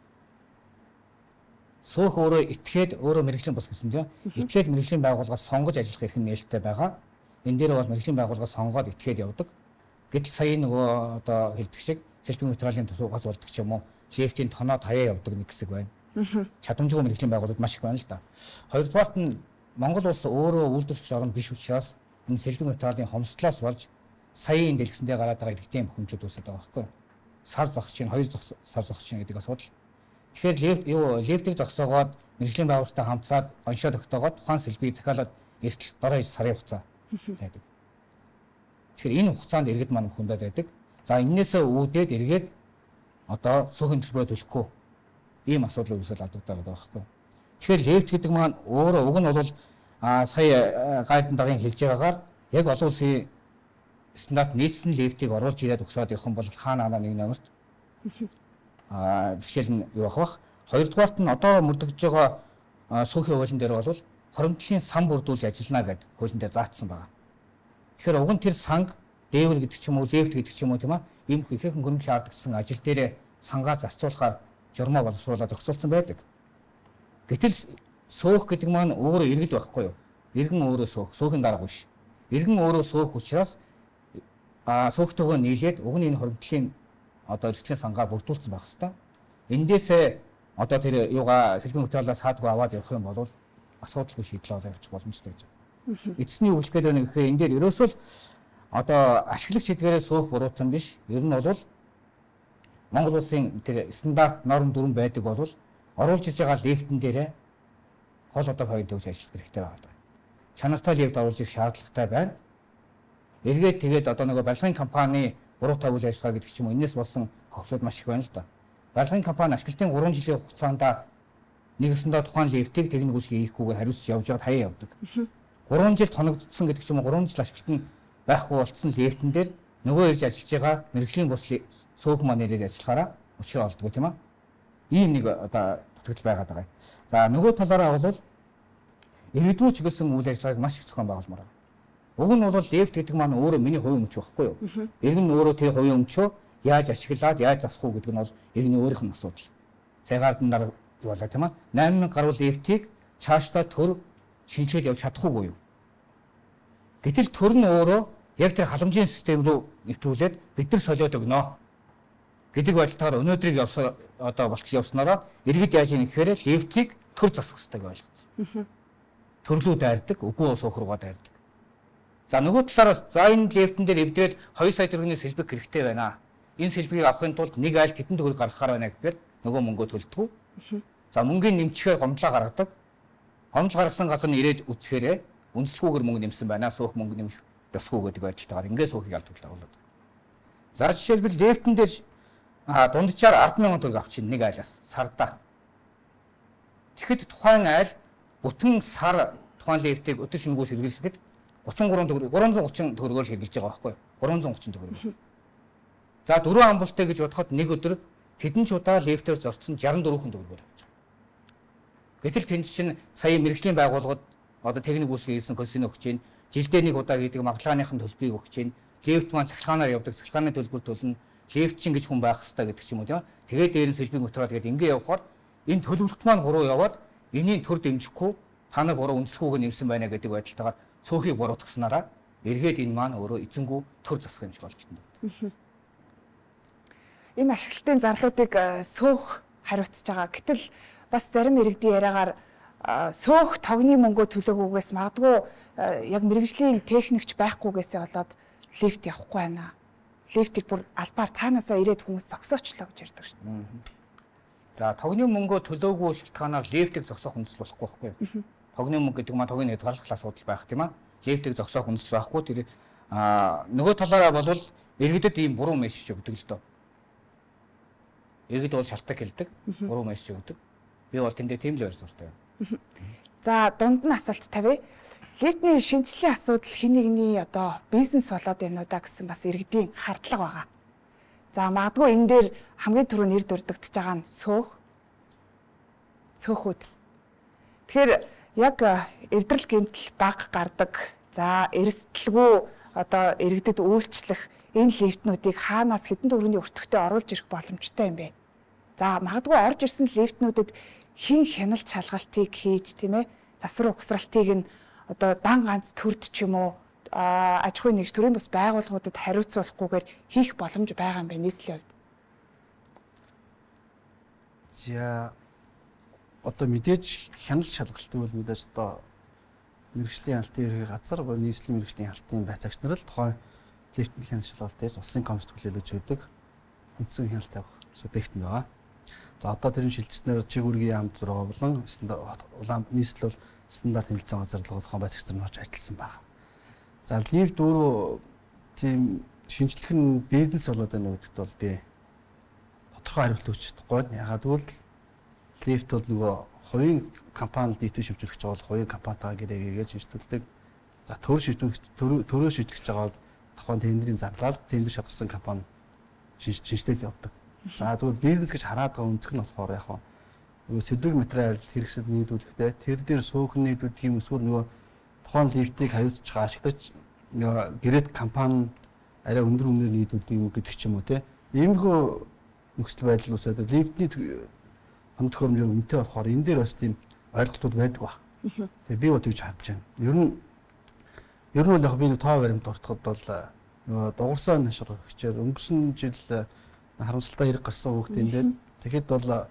Сөөх өөрөө итгээд өөрөө мэрэгжлийн бус гэсэн тийм. Итгээд мэрэгжлийн байгууллагаас сонгож ажиллах эрх нээлттэй байгаа. Энэ дээр бол мэрэгжлийн байгууллагаас сонгоод итгээд явдаг. Гэтэл сая нөгөө одоо хэлдэг шиг сэлбэг материалын тусгаас болдог ч юм уу лифтийн тоноо таяа явдаг нэг хэсэг байна. Чадамжгүй мэрэгжлийн байгууллагууд маш их байна л да. Хоёрдугаарт нь Монгол улс өөрөө үйлдвэрлэгч орн биш учраас энэ сэлбэг материалын хомсдлоос болж саяын дэлгэсэндээ гараад байгаа иргэдийн бухимдлууд үүсэж байгаа байхгүй юу? Сар зогсож чинь, хоёр сар зогсож чинь гэдэг асуудал. Тэгэхээр лифтийг зогсоогоод мэрэгжлийн байгууллагатай хамтраад оншоо тогтоогоод тухайн сэлбийг захиалаад эртэл дороо 2 сарын хугацаа байдаг. Тэгэхээр энэ хугацаанд иргэд маань хүндээд байдаг. За энээсээ үүдээд эргээд одоо сөөхийн төлбөрөө төлөхгүй ийм асуудал үүсэл алдагдаад байгаа байхгүй. Тэгэхээр лифт гэдэг маань өөрөө уг нь бол сая гайдын даргын хэлж байгаагаар яг олон улсын стандарт нийцсэн лифтийг оруулж ирээд өгсөд явах юм бол хаана нэг номерт бэрхшээл нь юу авах. Хоёрдугаарт нь одоо мөрдөгж байгаа сөөхийн хуулийн дээр бол хоримтлын сан бүрдүүлж ажиллана гэдэг хуулийн дээр заагдсан байна. Тэгэхээр уг нь тэр санг дээвэр гэдэг ч юм уу лифт гэдэг ч юм уу тийм аа ийм ихээхэн хөрөнгөний шаардлагсан ажил дээр сангаа зарцуулахаар журмаа боловсруулаад зохицуулсан байдаг. Гэтэл сөөх гэдэг маань өөрөө иргэд байхгүй юу? Иргэн өөрөө сөөхийн дарга биш. Иргэн өөрөө сөөх учраас сөөхтэйгөө нийлээд уг нь энэ хоримтлын одоо эрсдлийн сангаа бүрдүүлсэн байх хэвээр. Эндээсээ одоо тэр юугаа сэлбэг материалаас хаадгүй аваад явах юм бол асуудалгүй шийдлээ олж явуучих боломжтой гэж байна. Эцсний үйлчлэгээд байна гэхээр энэ дээр ерөөсөө л одоо ашиглагч эдгээрээ суух буруутан биш. Ер нь бол Монгол улсын тэр стандарт норм дүрм байдаг бол оруулж иж байгаа лифтэн дээрээ гол одоо point төгс ажиллах хэрэгтэй байна. Чанартай лифт оруулж ирэх шаардлагатай байна. Эргээд тэгээд одоо нөгөө барилгын компани буруутай үйл ажиллагаа гэдэг ч юм уу энэс болсон хохлууд маш их байна л да. Барилгын компани ашиглалтын 3 жилийн хугацаанд нэгсэндээ тухайн лифтийг техник үйлчилгээ хийхгүйгээр хариуцж явж байгаад хаяа явдаг. 3 жил тоногдсон гэдэг ч юм уу 3 жил ашиглалт нь байхгүй болцсон лифтэн дээр нөгөө ирж ажиллаж байгаа мэрэгжлийн бус сөөх маань ирээд ажиллахаараа учраа олдгоо тийм аа. Ийм нэг одоо дутагдал байгаад байгаа. За нөгөө талаараа бол иргэдрүү чиглэсэн үйл ажиллагааг маш их зохион байгуулмаар байна. Уг нь бол лифт гэдэг маань өөрөө миний хувийн өмч байхгүй юу? Иргэн нь өөрөө тэр хувийн өмчөө яаж ашиглаад яаж засах уу гэдэг нь бол иргэний өөрийнх нь асуудал. Цагаард нь дараа явуулаа тийм аа. 8000 гаруй лифтийг цаашдаа төр шинжилгээд явж чадахгүй юу? Гэтэл төр нь өөрөө яг тэр халамжийн систем рүү нэвтрүүлээд бид нар солиод өгнө гэдэг байдлаар өнөөдрийг одоо болтол явснараа иргэд яаж ийм гэхээр лифтийг төр засах хэрэгтэй гэж ойлгоцсон. Төрлөө дайрдаг, үгүй суух руугаа дайрдаг. За нөгөө талаараас за энэ лифтэн дээр эвдрээд 2 сая төгрөгийн сэлбэг хэрэгтэй байна. Энэ сэлбэгийг авахын тулд нэг айл хэдэн төгрөг гаргахаар байна гэхээр нөгөө мөнгөө төлдөг. За мөнгөний нэмчихээр гомдлоо гаргадаг. Гомдол гаргасан газар нь ирээд үцхээр үндэслэхүүгээр мөнгө нэмсэн байна. Суух мөнгө нэмэх ёсгүй гэдэг байдалтайгаар ингээд суухыг алдуулдаг болоод. За жишээлбэл лифтэн дээр дунджаар 100000 төгрөг авчихын нэг айлаас сардаа. Тэгэхэд тухайн айл бүтэн сар тухайн лифтийг өдөр шингүүс хэрэглэхэд 33 төгрөг 330 төгрөгөөр хэрэглэж байгаа байхгүй юу? 330 төгрөг. За 4 амбултай гэж бодоход нэг өдөр хэдэн ч удаа лифтээр зорцсон 64 төгрөгөөр авч байгаа. Гэтэл тэнд чинь сая мэрэгжлийн байгууллагад одоо техник үйлчлэг хийсэн консены өгч чинь жилдээ нэг удаа гэдэг магалагын төлбөрийг өгч чинь лифт маань цахилгаанаар явдаг цахилгааны төлбөр төлнө лифт чинь гэж хүн байх хэрэгтэй гэдэг ч юм уу тийм. Тэгээд дээр нь сэлбэг материал гэдэг ингээ явхаар энэ төлөвлөлт маань буруу яваад энэний төр дэмжихгүй та нар буруу үндэслэхүүгээр нэмсэн байна гэдэг байдалтайгаар цөөхийг буруутгаснараа эргээд энэ маань өөрөө эзэнгүү төр засах юм шиг болчихно. Энэ ашиглалтын зарлуудыг сөөх хариуцж байгаа. Гэтэл бас зарим иргэдийн яриагаар сөөх тогны мөнгөө төлөөгүйгээс магадгүй яг мэрэгжлийн техникч байхгүйгээсээ болоод лифт явахгүй байна. Лифтийг бүр албаар цаанаасаа ирээд хүмүүс зогсоочлоо гэж ярьдаг шүү дээ. За тогны мөнгөө төлөөгүй шалтгаанаар лифтийг зогсоох үндэслэл болохгүй байхгүй юу? Тогны мөнгө гэдэг маань тогийн хязгаарлах асуудал байх тийм аа. Лифтийг зогсоох үндэслэл байхгүй тэр нөгөө талаараа бол иргэдэд ийм буруу мессеж өгдөг л дөө. Иргэд бол шалтгаан хэлдэг, буруу мессеж өгдөг. Би бол тэндээ тийм л байр суурьтай байна. За дунд нь асуулт тавья. Лифтний шинжилгээний асуудал хэн нэгний одоо бизнес болоод байна уу да гэсэн бас иргэдийн хардлага байгаа. За магадгүй энэ дээр хамгийн түрүү нэр дурддагдж байгаа нь сөөхүүд. Тэгэхээр яг эвдрэл гэмтэл баг гардаг. За эрсдэлгүй одоо иргэдэд үйлчлэх энэ лифтнүүдийг хаанаас хэдэн төгрөгийн өртөгтэй оруулж ирэх боломжтой юм бэ? За магадгүй орж ирсэн лифтнүүдэд хин хяналт шалгалтыг хийж тийм ээ засвар угсралтыг нь одоо дан ганц төрд ч юм уу аж ахуйн нэгж төрийн бус байгууллагуудад хариуцуулахгүйгээр хийх боломж байгаа юм байна нийслэлийн хувьд. За одоо мэдээж хяналт шалгалт үйл мэдээж одоо мэрэгжлийн хяналтын ерхий газар нийслэлийн мэрэгжлийн хяналтын байцаагч нар л тухайн лифтний хяналт шалгалт хийж улсын комист хүлээлгэж өгдөг үндсэн хяналт авах субъект нь байгаа. За одоо тэрийн шилжснээр чигүүргийн яамд руу болон улаан нийслэл бол стандарт хэмжээний газарлага тухайн байцаагч нар орж ажилласан байна. За лифт өөрөө тийм шинжлэх нь бизнес болоод байна гэдэгт бол би тодорхой хариулт өгч чадахгүй. Ягаад гэвэл лифт бол нөгөө хувийн компанид нийтийн шимжүүлэгч бол хувийн компанитайгаа гэрээгээд шинжлүүлдэг. За төрөө шийдлэж байгаа бол тухайн тендерийн зарлал тендер шалгасан компани шинжилээд явдаг. За зөвхөн бизнес гэж хараад байгаа өнцөг нь болохоор яг нөгөө сэдвэг материал хэрэгсэл нийлүүлэхдээ тэр дээр суух нийлүүлдэг юм эсвэл нөгөө тухайн лифтийг хариуцж байгаа ашиглагч нөгөө гэрээт компани арай өндөр үнээр нийлүүлдэг юм гэдэг ч юм уу те. Иймэрхүү нөхцөл байдал усаад лифтний хамт төхөөрөмж үнэтэй болохоор энэ дээр бас тийм ойлголтууд байдаг баг. Тэгээ би бол тэгж харж байна. Ер нь бол яг би нэг тоо баримт ортоход бол нөгөө дугуйсан нашир өгчээр өнгөрсөн жил харамсалтай хэрэг гарсан хүүхдийн дээр тэгэхэд бол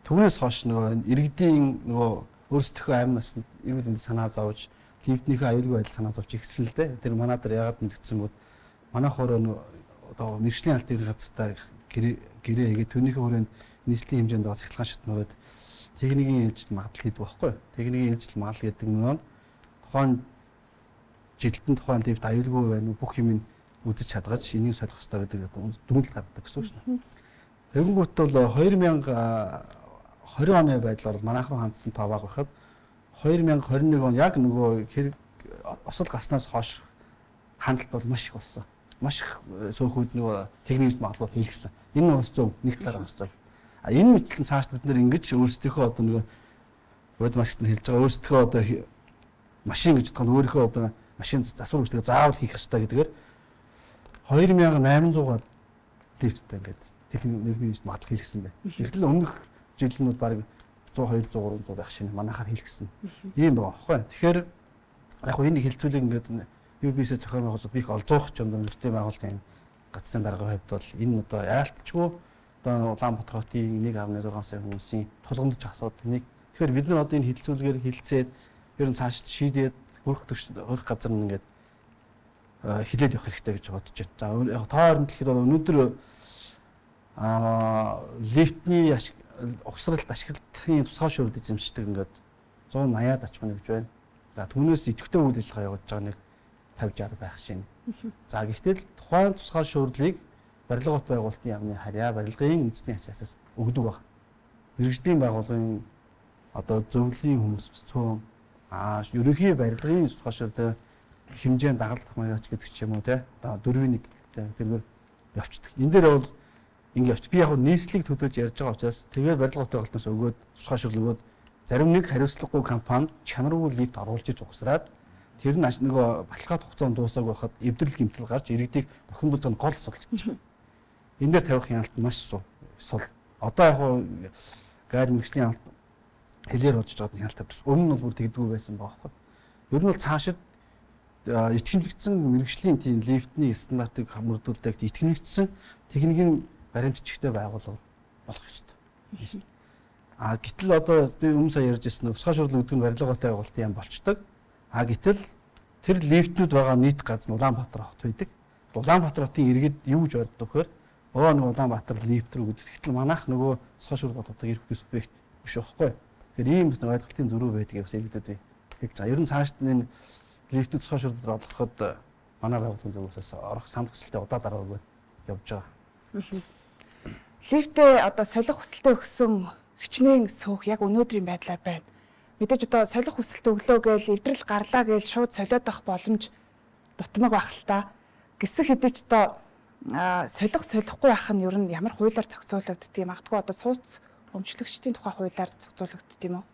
түүнээс хойш нөгөө иргэдийн нөгөө өөрсдөө амь насанд эрүүл мэндийн санаа зовж, лифтнийхээ аюулгүй байдал санаа зовж ихсэн л дээ. Тэр манай дээр яагаад мэдгдсэн бод манайх өөрөө одоо мэрэгжлийн алт эрх газартаа гэрээ хийгээд түүнийхээ хүрээнд нийслэлийн хэмжээнд байгаа цахилгаан шатнууд техникийн ээлжид магадлал хийдэг байхгүй. Техникийн ээлжид магадлал гэдэг нь тухайн жилтэн тухайн лифт аюулгүй байна уу бүх юм үзэж чадгаж энийг солих хэрэгтэй гэдэг дүгнэлт гаргадаг гэсэн үг шнэ. Тэгэнгүүт бол 2020 оны байдлаар манайх руу хандсан тоо бага байхад 2021 он яг нөгөө хэрэг осол гарснаас хойш хандлт бол маш их болсон. Маш их сөөхүүд нөгөө техникийн магадлал хийлгсэн. Энэ бас зөв нэг талаараа бас зөв. А энэ мэтлэн цааш бид нэр ингэж өөрсдийнхөө одоо нөгөө бод маркетинг хэлж байгаа өөрсдийнхөө одоо машин гэж бодоход өөрийнхөө одоо машин засвар үүсдэг заавал хийх ёстой гэдгээр 2800-аар лифттэй ингээд техникийн магадлал хийлгсэн байна. Гэтэл өмнөх жилнүүд баг 100 200 300 байх шинэ манайхаар хийлгсэн. Ийм байгаа байхгүй. Тэгэхээр яг хөө энийг хилцүүлэг ингээд UBS зохион байгуулалт бих олзуух ч юм нэртэй байгууллагын гацрын даргын хувьд бол энэ одоо яалтчгүй одоо Улаанбаатар хотын 1.6 сая хүмүүсийн тулгамдж асуудал нэг. Тэгэхээр бид нар одоо энэ хилцүүлгээр хилцээд ер нь цааш шийдээд хөрөх газар нь ингээд хилээд явах хэрэгтэй гэж бодож байна. За яг тоо хооронд хэлэхэд өнөөдөр лифтний угсралт ашиглалтын тусгай шуурд эзэмшдэг ингээд 180-аад ач хүнэ гэж байна. За түүнээс идэвхтэй үйл ажиллагаа явуулж байгаа нэг 50-60 байх шинэ. За гэхдээ тухайн тусгай шуурлыг барилга бот байгуулалтын яамны харьяа барилгын үндэсний хасаас өгдөг баг. Мэргэжлийн байгууллагын одоо зөвлөлийн хүмүүс цөөн ерөнхий барилгын тусгай шуурд хэмжээнд дагалдах маягач гэдэг ч юм уу те. Одоо 4-1 тэргээр явцдаг. Энэ дээр бол ингэ явч. Би яг нийслэлийг төдөөж ярьж байгаа учраас тэгээд барилга бот байгуулалтаас өгөөд тусгай шуурл өгөөд зарим нэг хариуцлагагүй компани чанаргүй лифт оруулж иж угсраад тэр нь нөгөө баталгаат хугацаанд дуусааг байхад эвдрэл гэмтэл гарч иргэдийг бохин бүлгэн гол асуудал гэж байна. Энэ дээр тавих хяналт маш сул. Одоо яг гайл мэргэжлийн алт хэлээр болж байгаа хяналт тавьсан. Өмнө нь бүр тэгдэггүй байсан баахгүй. Ер нь бол цаашид итгэмжлэгдсэн мэргэжлийн тийм лифтний стандартыг хамруулдаг итгэмжлэгдсэн техникийн баримтчигтэй байгууллага болох ёстой. Гэтэл одоо би өмнө сая ярьж ирсэн тусгай шуурл өгдөг нь барилга бот байгуулалтын яам болчдөг. Гэтэл тэр лифтнүүд байгаа нийт газар нь Улаанбаатар хот байдаг. Улаанбаатар хотын иргэд юу гэж боддог вэхээр нэг Улаанбаатар лифт рүү гэдэг. Гэтэл манайх нөгөө тусгай шуурл одоо ирэх субъект биш байхгүй. Тэгэхээр ийм нэг ойлголтын зөрүү байдгийг бас иргэдэд хэлж байгаа. Ер нь цаашд энэ лифтүүд тусгай шуурлаар олгоход манай байгууллагын зөвөөсөөс орох самт хүсэлтэд удаа дараа явж байгаа. Лифтээ одоо солих хүсэлтэд өгсөн хичнээн суух яг өнөөдрийн байдлаар байна. Мэдээж одоо солих хүсэлт өглөө гээл эвдрэл гарлаа гээл шууд солиод авах боломж дутмаг байх л та. Гэсэх хэдий ч одоо солихгүй байх нь ер нь ямар хуулиар зохицуулагддгийг магадгүй одоо сууц өмчлөгчдийн тухай хуулиар зохицуулагддаг юм уу?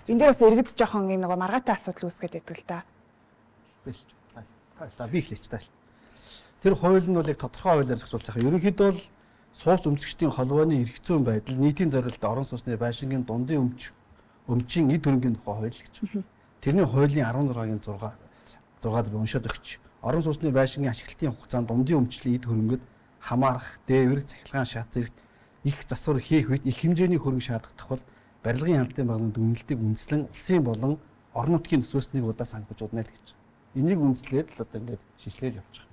Энд дээр бас иргэд жоохон юм нэг маргаатай асуудал үүсгээд байдаг л да. Би хэлээч таа. Тэр хууль нь бол яг тодорхой хуулиар зохицуулсан. Ерөнхийдөө бол сууц өмчлөгчдийн холбооны эрх зүйн байдал нийтийн зорилт орон сууцны байшингийн дундын өмчийн эд хөрөнгийн тухай хууль гэж. Тэрний хуулийн 16-гийн 6-аар уншаад өгч. Орон сууцны байшингийн ашиглалтын хугацаанд дундын өмчлийн эд хөрөнгөд хамаарах, дээвэр, цахилгаан шат зэрэгт их засвар хийх үед их хэмжээний хөрөнгө шаардах бол барилгын хяналтын байгууллагын дүгнэлтийг үндэслэн улсын болон орон нутгийн төсвөөс нэг удаа санхүүжүүлнэ л гэж. Энийг үндэслээд л одоо ингээд шийдлээд явж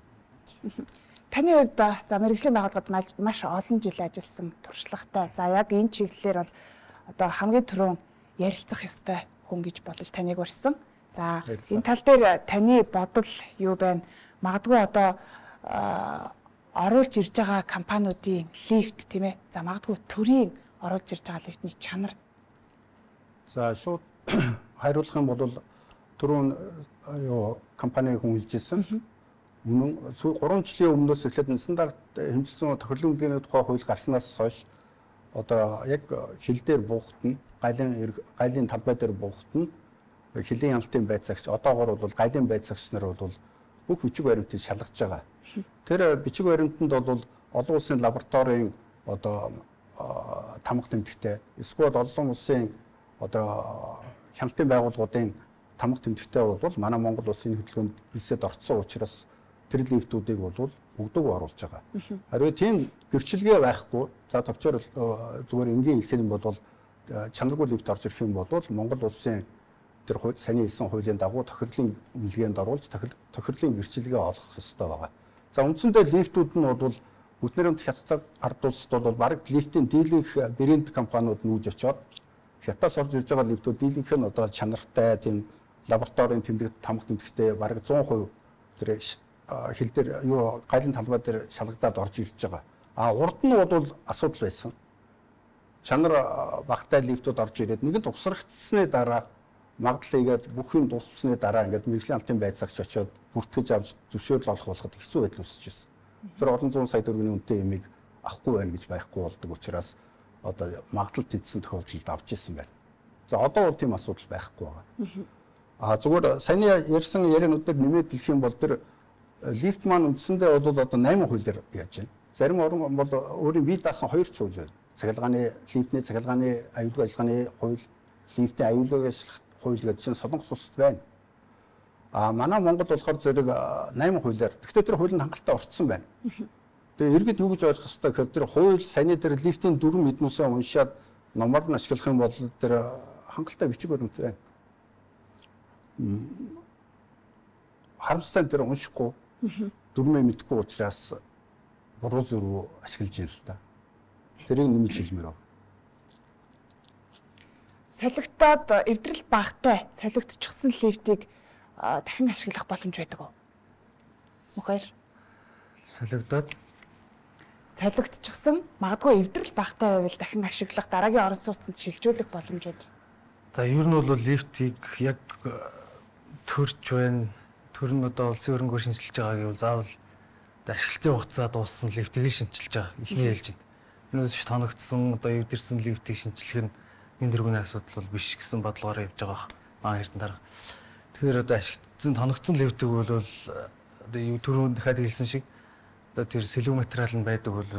байгаа. Таны хувьд за мэргэжлийн байгууллагад маш олон жил ажилласан туршлагатай. За яг энэ чиглэлээр бол одоо хамгийн түрүүн ярилцах ёстой хүн гэж бодож таныг урьсан. За энэ тал дээр таны бодол юу байна? Магадгүй одоо оруулж ирж байгаа компаниудын лифт тийм ээ. За магадгүй төрийн оруулж ирж байгаа лифтний чанар. За шууд хариулах юм бол түрүүн компаниг хүн хэлжсэн. 3 жилийн өмнөөс эхлээд стандарт хэмжүүлсэн тохирлын үнэлгээний тухай хууль гарснаас хойш одоо яг хил дээр буухтна, гайлын талбай дээр буухтна, хилийн хяналтын байцаагч одоогоор бол гайлын байцаагч нар бол бүх бичиг баримтыг шалгаж байгаа. Тэр бичиг баримтанд бол олон улсын лабораторийн одоо тамга тэмдэгтэй, эсвэл олон улсын одоо хяналтын байгууллагуудын тамга тэмдэгтэй бол манай Монгол улсын хөдөлгөөнд хэлсэд орцсон учраас тэр лифтүүдийг бол өгдөг оруулж байгаа. Харин тийм гэрчилгээ байхгүй. За товчоор зүгээр энгийн хэлэх юм бол чанаргүй лифт орж ирэх юм бол Монгол улсын тэр саний хэлсэн хуулийн дагуу тохирлын үнэлгээнд оруулж тохирлын гэрчлэгээ олох ёстой байгаа. За үндсэндээ лифтүүд нь бол Бүтнэрэмт хятад ард улсад бол бараг лифтийн дийлэнх брэнд компаниуд нүүж очоод хятадаас орж ирж байгаа лифтүүд дийлэнх нь одоо чанартай тийм лабораторийн тамга тэмдэгтэй бараг 100% тэр хил дээр юу гайлын талбай дээр шалгадаад орж ирж байгаа. Урд нь бол асуудал байсан. Чанар багтай лифтүүд орж ирээд нэгэн тусрагдсны дараа магадлал игээд бүх юм дууссны дараа ингээд мэрэгжлийн алтын байцаагч очоод бүртгэж авч зөвшөөрөл олох болоход хэцүү байдал үүсэж байна. Тэр олон зуун сая төгрөгийн үнэтэй ямиг авахгүй байна гэж байхгүй болдог учраас одоо магадлал тэнцсэн тохиолдолд авч ирсэн байна. За одоо бол тийм асуудал байхгүй байгаа. Зүгээр саяны ярьсан яриануудыг нэмээд хэлэх юм бол тэр лифт маань үндсэндээ бол одоо 8 хуулиар яаж байна. Зарим орн бол өөрийн бие даасан 2 хууль байна. Цахилгааны лифтний цахилгааны аюулгүй ажиллагааны хууль, лифтийн аюулгүй ажиллах хууль гэж чинь Солонгос улсад байна. Манай Монгол болохоор зэрэг 8 хуулиар. Гэхдээ тэр хууль нь хангалттай орцсон байна. Тэгээ иргэд юу гэж ойлгох ёстой гэхээр тэр хууль саяны тэр лифтийн дүрм мэднүүсээ уншаад номоор нь ашиглах юм бол тэр хангалттай бичиг баримт байна. Харамсалтай тэр уншихгүй дүрмээ мэдхгүй учраас буруу зүрх ашиглаж байна л да. Тэрийг нэмж хэлмээр байна. Солигдоод эвдрэл багтай солигдчихсан лифтийг дахин ашиглах боломж байдаг уу? Мөхөр солигдчихсан магадгүй эвдрэл багтай байвал дахин ашиглах дараагийн орон сууцнд шилжүүлэх боломжууд. За ер нь бол лифтийг яг төрж байна. Төр нь одоо улсын хөрөнгөөр шинжилж байгаа гэвэл заавал ашиглалтын хугацаа дууссан лифтийг шинжилж байгаа. Ихний хэлж байна. Юунаас ч тоногдсон одоо эвдэрсэн лифтийг шинжилэх нь энэ дөрвийн асуудал бол биш гэсэн бодлогоор явж байгаа маань эрдэнэ дарга. Тэгэхээр одоо ашиглагдсан тоногдсон лифтийг бол одоо түрүүн дахиад хэлсэн шиг одоо тэр сэлүү материал нь байдаг бол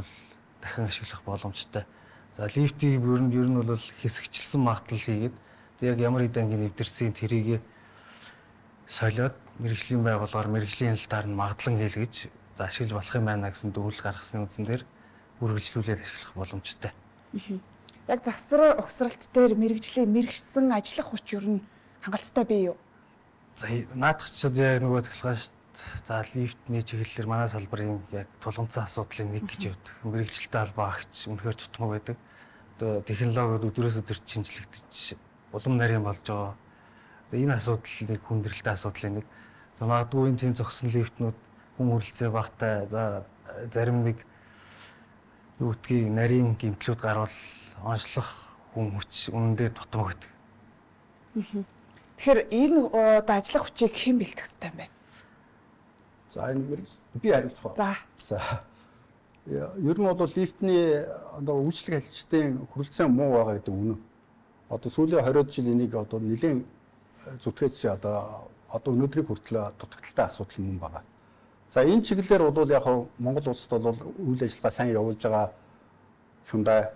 дахин ашиглах боломжтой. За лифтийг ер нь бол хэсэгчлсэн магадлал хийгээд яг ямар хэдэн эвдэрсэн тэрийг солиод мэрэгжлийн байгууллагаар мэрэгжлийн хяналтаар нь магадлан хийлгэж за ашиглаж болох юм байна гэсэн дүгнэлт гаргасны үндсэн дээр үргэлжлүүлээд ашиглах боломжтой. Яг завсар угсралт дээр мэрэгжлийн мэрэгсэн ажиллах хүч ер нь хангалттай бий юу? За наадахчид яг нөгөө захилгаан шүү дээ. За лифтний чиглэлээр манай салбарын яг тулгымцсан асуудлын нэг гэж явдаг. Мэрэгчлэлтэй холбооч үнэхээр тутмаг байдаг. Одоо технологиуд өдрөөс өдөрт шинжлэгдэж улам нарийн болж байгаа. Энэ асуудлыг хүндрэлтэй асуудлын нэг. За магадгүй энэ тийм зогсон лифтнүүд хүм хүрлцээ багтай. За зарим нэг юу гэдгийг нарийн гэмтлүүд гарвал онцлох хүн хүч үнэндээ тутмаг байдаг. Тэгэхээр энэ одоо ажиллах хүчийг хэн бэлтгэх хэрэгтэй юм бэ? За энэ би хариулцгаа. За. Ер нь бол лифтний одоо үйлчлэг ажилчдын хүрэлцээ муу байгаа гэдэг үнэн. Одоо сүүлийн 20 жил энийг одоо нэлээд зүтгэж одоо өнөөдрийг хүртэл дутагдaltaй асуудал мөн байгаа. За энэ чиглэлээр бол яг Монгол улсад бол үйл ажиллагаа сайн явуулж байгаа Hyundai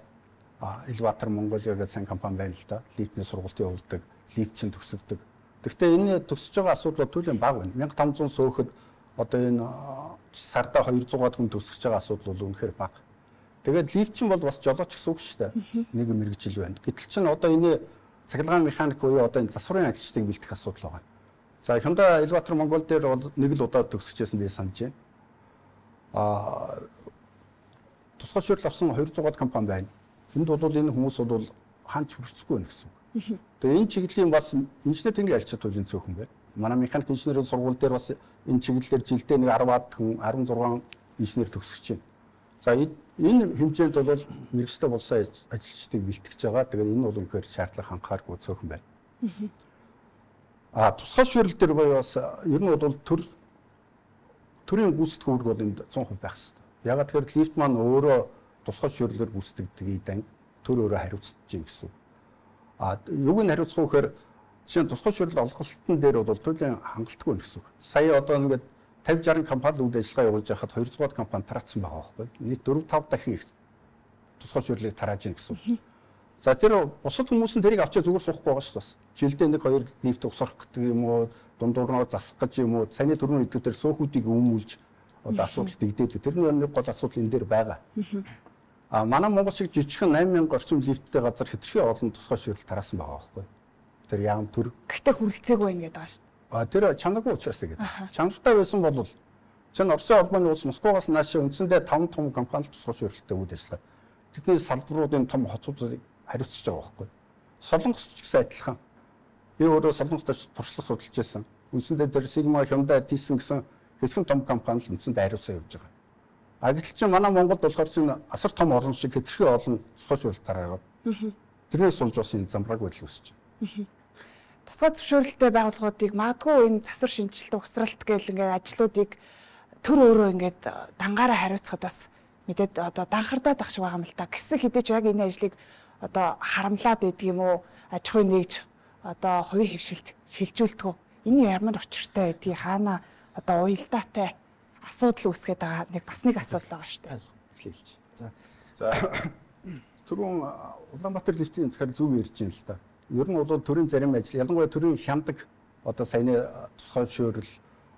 Elevator Mongolia гэх сайн компани байна л да. Лифтний сургалт явуулдаг, лифтчин төгсөгдөг. Гэхдээ энэ төгсөж байгаа асуудал туйлын бага байна. 1500 сөөхөд одоо энэ сарда 200-аад хүн төгсөж байгаа асуудал бол үнэхээр бага. Тэгээд лифтчин бол бас жолооч гэсэн үг шүү дээ. Нэг мэрэгжил байна. Гэтэл чинь одоо энэ цахилгаан механик буюу одоо энэ засварын ажилчдыг бэлтгэх асуудал байгаа. За Hyundai Elevator Монгол дээр бол нэг л удаа төгсөжсэн би санаж байна. Тусгай шийдэл авсан 200-аад компани байна. Энд бол энэ хүмүүс бол хаач хүрэлцэхгүй байна гэсэн үг. Тэгээ энэ чиглэлийн бас инженер техникийн ажилчид туйлын цөөхөн байна. Манай механик инженерийн сургууль дээр бас энэ чиглэлээр жилдээ нэг 10-аад хүн 16 инженер төгсөж байна. За энэ хэмжээнд бол мэрэгчтэй болсон ажилчдыг бэлтгэж байгаа. Тэгээд энэ бол үнэхээр шаардлага хангахааргүй цөөхөн байна. Тусгай шийдэл дээр бас ер нь бол төрийн гүйцэтгэх үүрэг бол энд 100% байх хэрэгтэй. Ягаад тэгэхээр лифт маань өөрөө тусгай шийдлээр гүйцэтгэдэг дан төр өөрөө хариуцж чинь гэсэн. Юуг нь хариуцах вэ гэхээр жишээ нь тусгай шийдэл олголтын дээр бол туйлын хангалтгүй байна гэсэн үг. Сая одоо ингээд 50-60 компани үйл ажиллагаа явуулж байхад 200-аад компани тараацсан байгаа байхгүй. Нийт 4-5 дахин их тусгай шийдлийг тарааж ийн гэсэн. За тэр бусад хүмүүс нь тэрийг авчаа зүгээр суухгүй байгаа шүү дээ. Жилдээ нэг 2 лифт усрах гэдэг юм уу, дундуурнаар засах гэж юм уу, цааны төрний эдгээр тэр сөөхүүдийг өмүүлж одоо асуудал дэгдээд. Тэр нэг гол асуудал энэ дээр байгаа. Манай Монгол шиг жижигхэн 8000 орчим лифттэй газар хэтэрхий олон тусгай шийдэл тараасан байгаа байхгүй. Тэр яам төр. Гэхдээ хүрэлцээгүй байна гэдэг байна шүү. Тэр чанаргүй учраас тэгээд. Чанартай байсан бол чинь Оросын холбооны улс Москвагаас нааш үндсэндээ 5 том компани тусгай шийдэлтэй үйл ажиллагаа. Тэдний салбаруудын том хотуудыг хариуцж байгаа байхгүй. Солонгос ч гэсэн адилхан. Би өөрөө Солонгостой туршлага судалж байсан. Үндсэндээ тэр Sigma, Hyundai, Thyssen гэсэн хэдхэн том компани л үндсэндээ хариуцсан явж байгаа. Гэтэл чинь манай Монголд болохоор чинь асар том орон шиг хэтэрхий олон тусгай шийдэл тараагаад. Тэрнээс сулж бас энэ замбрааг байдал үүсэж байна. Тусгай зөвшөөрөлттэй байгууллагуудыг магадгүй энэ засвар шинжилт угсралт гэл ингээд ажлуудыг төр өөрөө ингээд дангаараа хариуцахад бас мэдээд одоо данхардаад ах шиг байгаа юм л та. Гэсэн хэдий ч яг энэ ажлыг одоо харамлаад идэг юм уу? Аж ахуй нэгж одоо хувийн хөвшилт шилжүүлдэг. Энэ ямар учиртай байдгийг хаана одоо уялдаатай асуудал үүсгээд байгаа бас нэг асуудал байгаа шүү дээ. За түрүүн Улаанбаатар лифтийн захаар зөв ярьж байна л та. Ер нь бол төрийн зарим ажил, ялангуяа төрийн хямдаг одоо саяны тусгай зөвшөөрөл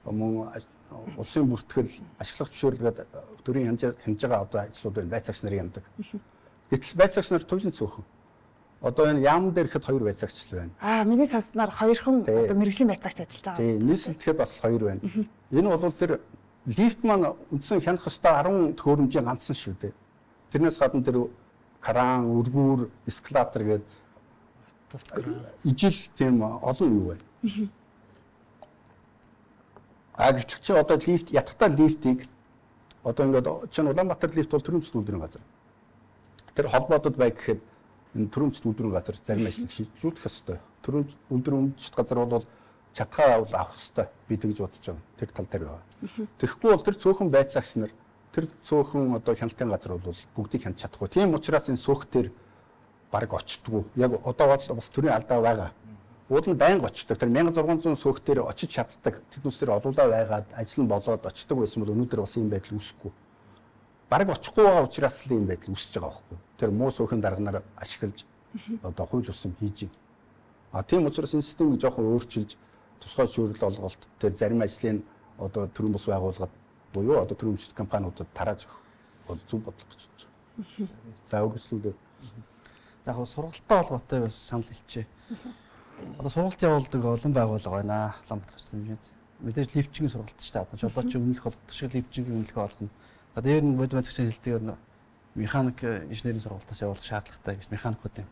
мөн улсын бүртгэл, ашиглах зөвшөөрлгээд төрийн хянж байгаа одоо ажлууд байна. Байцаагч нарын хямдаг. Гэтэл байцаагч нар туйлын цөөхөн. Одоо энэ яам дээр ихэд 2 байцаагч л байна. Миний сонсноор 2хан одоо мэргэжлийн байцаагч ажиллаж байгаа. Тийм, нийслэлтэд бас 2 байна. Энэ бол тэр лифт маань үндсэн хянах ёстой 10 төхөөрөмжийн ганцсан шүү дээ. Тэрнээс гадна тэр кран, өргүүр, эскалатор гэдэг ижил тийм олон юу байна. Гэтэл чи одоо лифт ятгахтаа лифтийг одоо ингээд чинь Улаанбаатар лифт бол төрөмжт үйлдвэрийн газар. Тэр холбоодод бай гэхэд энэ төрөмжт үйлдвэрийн газар зарим ажлыг шийдвэрлэх ёстой. Төрөмж үйлдвэрийн газар бол чатгаа авах ёстой. Би тэгж бодож байгаа. Тэр тал дээр байгаа. Тэгэхгүй бол тэр цөөхөн байцаагч нар тэр цөөхөн одоо хяналтын газар бол бүгдийг хянаж чадахгүй. Тийм учраас энэ суух дээр баг очтдгүй. Яг одоо бас төрийн алдаа байгаа. Уул нь байнга очдог. Тэр 1600 суух дээр очиж чаддаг. Тэднээс тэр олуулаа байгаад ажил нь болоод очдог байсан бол өнөөдөр бас ийм байдал үүсэхгүй. Баг очихгүй байгаа учраас л ийм байдал үүсэж байгаа байхгүй. Тэр муу суухийн дарганаар ашиглаж одоо хууль усам хийж байна. Тийм учраас энэ системийг жоохон өөрчилж тусгай зөвшөөрөл олголт тэр зарим ажлын одоо төрийн бус байгууллагад буюу одоо төрийн өмчт компаниудад тарааж өгөх бол зөв бодлого гэж бодож байна. За үргэлжлүүлээ. Яг сургалттай холбоотой бас санал хэлчихье. Одоо сургалт явуулдаг олон байгууллага байна. Улаанбаатар хэмжээнд. Мэдээж лифтчгийн сургалт шүү дээ. Одоо жолооч өмнөх болгох шиг лифтчгийн өмнөх болгоно. За дээр нь бодит мэдлэгчийн хэлдгээр механик инженерийн сургалтаас явуулах шаардлагатай гэж механикууд юм.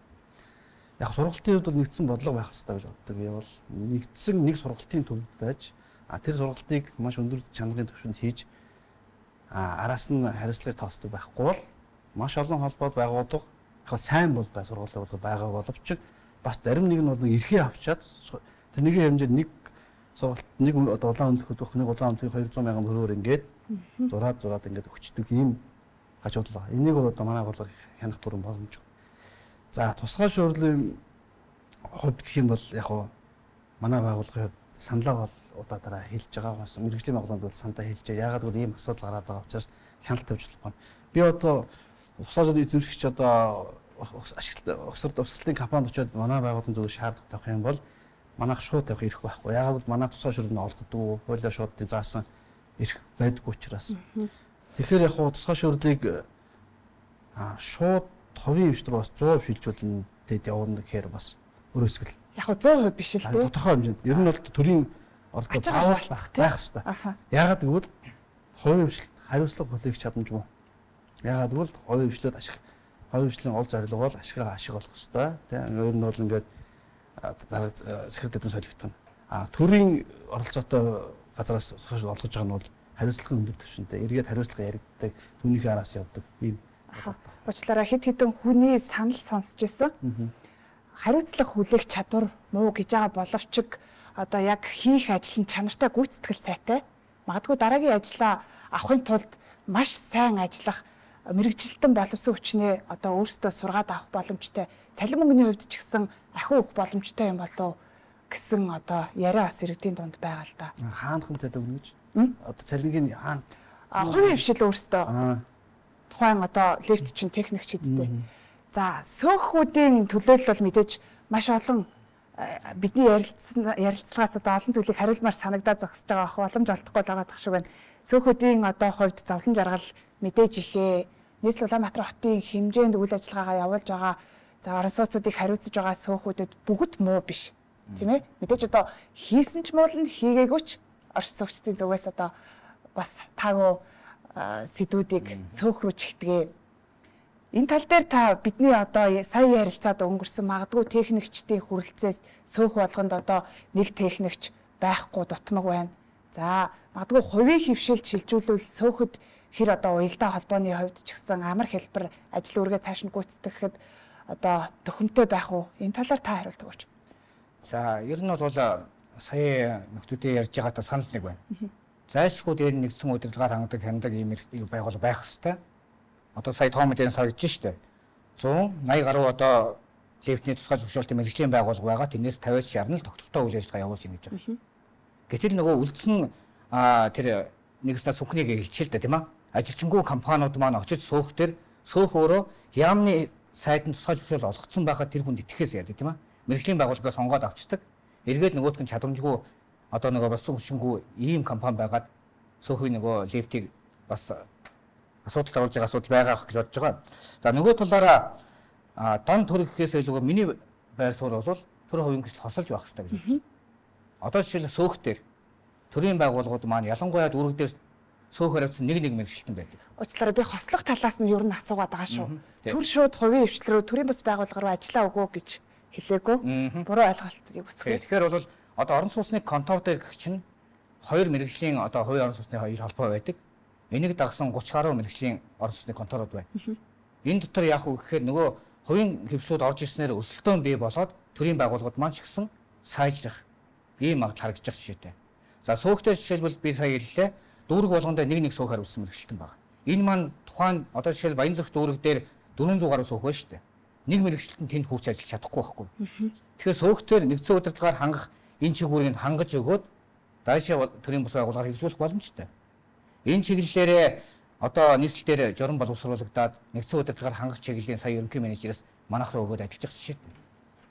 Яг сургалтын хувьд бол нэгдсэн бодлого байх хэрэгтэй гэж боддог. Явал нэгдсэн нэг сургалтын төвд байж тэр сургалтыг маш өндөр чанарын түвшинд хийж араас нь хариуцлагыг тоосдог байхгүй бол маш олон холбоод байгууллага яг сайн бол сургалтын байгаа боловч бас зарим нэг нь бол эрхээ авчаад тэр нэгэн хэмжээнд нэг сургалт нэг одоо улаан өндлөхөд өгөх нэг улаан өндлөхийг 200 мянган төгрөгөөр ингээд зураад ингээд өгчдөг ийм хажуудлага. Энийг бол одоо манай байгууллага хянах бүрэн боломжгүй. За тусгай шуурдлын хувьд гэх юм бол яг манай байгууллагын хувьд саналаа бол удаа дараа хэлж байгаа бас мэргэжлийн байгууллагууд бол сандаа хэлж байгаа. Яагаад гэвэл ийм асуудал гараад байгаа учраас хяналт тавьж болохгүй. Би одоо тусгай шуурдлын эзэмшигч одоо угсралтын компанид очиод манай байгууллагын зөв шаардлага тавих юм бол манайх шууд тавих эрх байхгүй. Яагаад гэвэл манай тусгай шуурдлыг олгохгүй, хуулиа шуудын заасан эрх байдгүй учраас. Тэгэхээр яг тусгай шуурдлыг шууд хувийн эмчтэр бас 100% шилжүүлнэ тэд явна гэхээр бас өрөөсгөл. Яг 100% биш л дээ. Тодорхой хэмжээнд. Ер нь бол төрийн ордоо заавал байх хэрэгтэй. Яагаад гэвэл хувийн эмчилт хариуцлага бүлээх чадамжгүй. Яагаад гэвэл хувийн эмчлээд хувийн эмчлийн ол зорилго бол ашиг олох хэрэгтэй. Тийм ер нь бол ингээд дараа захирал дэдэн солигдсон. Төрийн оролцоотой газараас олгож байгаа нь бол хариуцлагын өндөр түвшинтэй. Эргээд хариуцлага яригддаг, түүнийхээ араас явдаг юм. Уучлаарай хэд хэдэн хүний санал сонсч байсан. Хариуцлага хүлээх чадвар муу гэж байгаа боловч одоо яг хийх ажил нь чанартай гүйцэтгэл сайтай. Магадгүй дараагийн ажлаа авахын тулд маш сайн ажиллах мэрэгжилтэн боловсон хүчнээ одоо өөрсдөө сургаад авах боломжтой. Цалин мөнгөний хувьд ч гэсэн ахиу өгөх боломжтой юм болов гэсэн одоо яриа бас иргэдийн дунд байгаа л да. Хаанхан цалин өгнө гэж? Одоо цалингийн хаана? Хувийн хвшил өөрсдөө. Тухайн одоо лифт чинь техник чидтэй. За сөөхүүдийн төлөөлөл бол мэдээж маш олон бидний ярилцлагаас одоо олон зүйлийг хариулмаар санагдаад зогсож байгаа боломж олдохгүй л байгаа шиг байна. Сөөхүүдийн одоо хувьд зовлон жаргал мэдээж ихээ нийслэл Улаанбаатар хотын хэмжээнд үйл ажиллагаагаа явуулж байгаа за орон сууцуудыг хариуцж байгаа сөөхүүдэд бүгд муу биш. Тийм ээ? Мэдээж одоо хийсэн ч муу нь хийгээгүй ч орон суугчдын зүгээс одоо бас таагүй сэдвүүдийг сөөх рүү чигтгээ. Энэ тал дээр та бидний одоо сая ярилцаад өнгөрсөн магадгүй техникчдийн хүрэлцээс сөөх болгонд одоо нэг техникч байхгүй дутмаг байна. За магадгүй хувийн хөвшилд шилжүүлвэл сөөхөд хэр одоо уялдаа холбооны хувьд ч гэсэн амар хэлбэр ажил үргээ цааш нь гүйцэтгэхэд одоо төхөмтэй байх уу? Энэ талаар та хариулт өгөөч. За ер нь бол сая нөхдүүдээ ярьж байгаатай санал нэг байна. Зайлшгүй дээр нэгдсэн удирдлагаар хангадаг хяндаг ийм байгуул байх хэвээр. Одоо сая тоомдын сар гэж штэ. 180 гаруй одоо лифтний тусгай зөвшөөрөлтөй мэргэжлийн байгууллага байгаа. Тэрнээс 50-аас 60 л тогтвортой үйл ажиллагаа явуулж байна гэж байгаа. Гэтэл нөгөө үлдсэн тэр нэгснээс сүнхнийг хэлчихэл дээ тийм аа. Ажилчингүй компаниуд маань очиж сөөх дээр сөөх өөрөө яамны сайдын тусгай зөвшөөрөл олгоцсон байхад тэр хүнд итгэхээс яадаг тийм аа. Мэргэжлийн байгууллагаас сонгоод авчдаг. Эргээд нөгөөдг нь чадамжгүй одоо нөгөө болсон хүчингүй ийм компани байгаад сөөхний нөгөө лифтийг бас асуудалд оруулж байгаа асуудал байгаа гэж бодож байгаа. За нөгөө талаараа дан төр гэхээс илүү миний байр суурь бол төр хувийн гэрэл хосолж байх хэрэгтэй гэж бодож байна. Одоо жишээл сөөх дээр төрийн байгууллагууд маань ялангуяа дүүрэг дээр сөөх хариуцсан нэг мэргэжилтэн байдаг. Уучлаарай би хослох талаас нь юу н асуугаад байгаа шүү. Төр шууд хувийн хвшлэл рүү төрийн бас байгууллага руу ажиллаа өгөө гэж хэлээгүй. Буруу ойлголтыг бүсгэй. Тэгэхээр бол одоо орон сууцны контор дээр гэх чинь хоёр мэргэжлийн одоо хувийн орон сууцны хоёр холбоо байдаг. Энийг дагсан 30 гаруй мэргэжлийн орон сууцны конторууд байна. Энэ дотор яах вэ гэхээр нөгөө хувийн хвшлүүд орж ирснээр өрсөлдөөн бий болоод төрийн байгууллагууд маань ч гэсэн сайжрах ийм магадлал харагдаж байгаа жишээтэй. За сөөхтэй жишээлбэл би сая хэллээ. Дүүрэг болгонд нэг сөөх хариуцсан мэргэжилтэн байна. Энэ маань тухайн одоо жишээл Баянзүрх дүүрэг дээр 400 гаруй сөөх байна шүү дээ. Нэг мэргэжилтэн тэнд хурц ажиллаж чадахгүй байхгүй. Тэгэхээр сөөхтөр нэгдсэн удирдлагаар хангах энэ чиглэлийг хангаж өгөөд даашаа төрийн бус байгууллагаар хэрэгжүүлэх боломжтой. Энэ чиглэлээрээ одоо нийслэлээр журам боловсруулагдаад нэгдсэн удирдлагаар хангах чиглэлийн сая ерөнхий менежераас манайх руу өгөөд ажиллаж байгаа жишээтэй.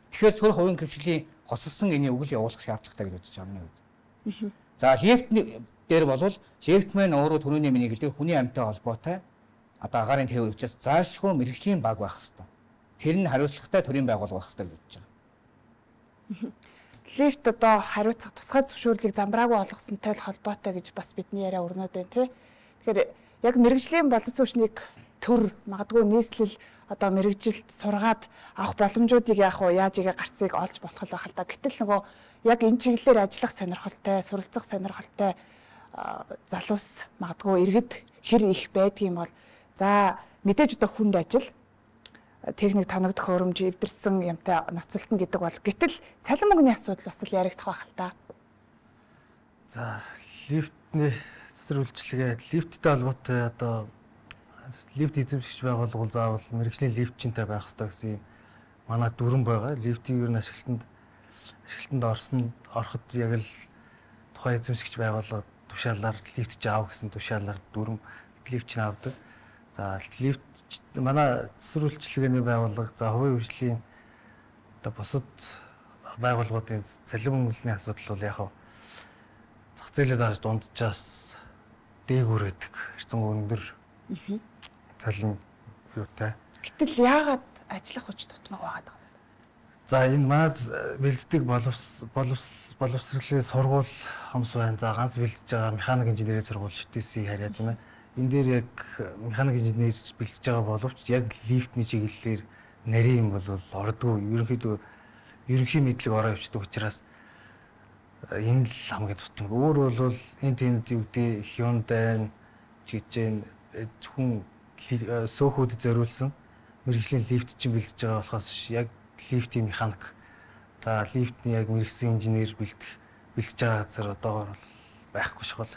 Тэгэхээр цөөр хувийн хвшлийн хосолсон энийг үгэл явуулах шаардлагатай гэж бодож байгаа юм уу? За лифт дээр бол лифтмен өөрөө түрүүний миний хэлдэг хүний амьтаа холбоотой одоо агаарын тээвэр учраас заашгүй мэргэжлийн баг байх хэрэгтэй. Тэр нь хариуцлагатай төрийн байгууллага байх хэрэгтэй гэж бодож байгаа. Лифт одоо хариуцах тусгай зөвшөөрлийг замбраагүй олгосонтой холбоотой гэж бас бидний яриа өрнөд байна тий. Тэгэхээр яг мэргэжлийн боловсруучныг төр магадгүй нийслэл одоо мэргэжилт сургаад авах боломжуудыг яах вэ? Яаж игээ гарцыг олж болох байх л да. Гэтэл нөгөө яг энэ чиглэлээр ажиллах сонирхолтой, суралцах сонирхолтой залуус магадгүй иргэд хэр их байдгийм бол за мэдээж одоо хүнд ажил техник тоногдох хөрөмж эвдэрсэн юмтай ноцолтон гэдэг бол гэтэл цалин мөнгөний асуудал бас л яригдах байх л та. За лифтний цэцэр үйлчилгээ лифттэй холбоотой одоо лифт эзэмшигч байгууллага заавал мэргэжлийн лифтчинтэй байх хэрэгтэй гэсэн юм манай дүрэн байгаа. Лифтийг ер нь ашиглалтанд ороход яг л тухайн эзэмшигч байгууллага тушаалаар лифт ч аав гэсэн тушаалаар дүрэн лифтч нь авдаг. За лифт манай цэцэр үйлчилгээний байгууллага за хувийн хвшлийн одоо бусад байгууллагуудын цалин мөнгөний асуудал бол яг зах зээлээ дааж дунджаас дээгүүр байдаг. Хэрцэн өндөр цалин юутай. Гэтэл яагаад ажиллах хүч тутмаг байгаад байгаа юм? За энэ манад бэлддэг боловсролын сургууль хомс байна. За ганц бэлдэж байгаа механик инженерийн сургууль ШТС харьяа тийм ээ. Энэ дээр яг механик инженер бэлдэж байгаа боловч яг лифтний чиглэлээр нарийн юм бол ордгүй. Ерөнхий мэдлэг ороо явчихдаг учраас энэ л хамгийн тутмаг. Өөр бол энэ тэнд юу гэдэг Hyundai жижиг зөвхөн сөөхүүдэд зориулсан мэргэжлийн лифт чинь бэлдэж байгаа болохоос яг лифтийн механик за лифтний яг мэргэжлийн инженер бэлдэж байгаа газар одоогоор байхгүй шгол.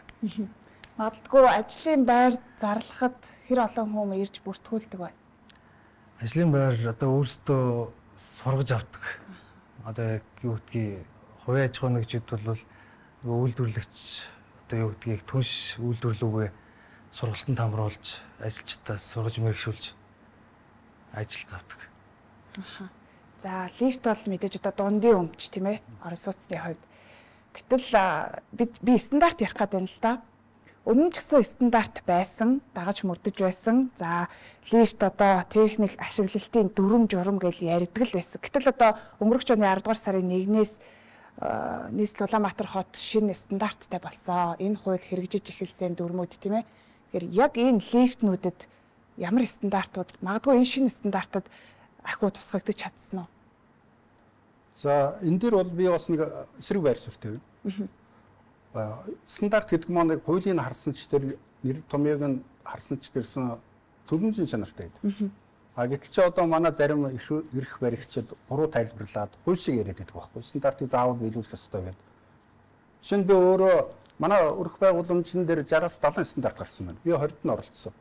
Магадгүй ажлын байр зарлахад хэр олон хүмүүс ирж бүртгүүлдэг бай. Ажлын байр одоо өөрсдөө сургаж авдаг. Одоо яг юу гэдгийг хувийн аж ахуйн нэгжид бол үйлдвэрлэгч одоо юу гэдгийг түнш үйлдвэрлэлүүгээ сургалтанд хамруулж ажилчдаа сургаж мэргэшүүлж ажилд авдаг. За лифт бол мэдээж одоо дундын өмч тийм ээ орон сууцны хувьд. Гэтэл би стандарт ярих гэдэг юм л да. Өмнө ч гэсэн стандарт байсан, дагаж мөрдөж байсан. За лифт одоо техник ашиглалтын дүрм журам гэж ярьдаг л байсан. Гэтэл одоо өнгөрөх оны 10 дугаар сарын 1-ээс нийслэл Улаанбаатар хот шинэ стандарттай болсон. Энэ хууль хэрэгжиж эхэлсэн дүрмүүд тийм ээ. Тэгэхээр яг энэ лифтнүүдэд ямар стандартууд магадгүй энэ шинэ стандартад ахиу тусгагдаж чадсан уу? За энэ дээр бол би бас нэг эсрэг байр суурьтай байна. Стандарт гэдэг маань хуулийн харсан ч тэр нэр томьёог нь харсан ч гэсэн зөвлөмжийн чанартай байдаг. Гэтэл чи одоо манай зарим эрх баригчид буруу тайлбарлаад хууль шиг яриад байдаг байхгүй. Стандартыг заавал биелүүлэх ёстой гэдэг. Жишээ нь би өөрөө манай өрх байгууламжийн дээр 60-аас 70 стандарт гарсан байна. Би 20-д нь оролцсон.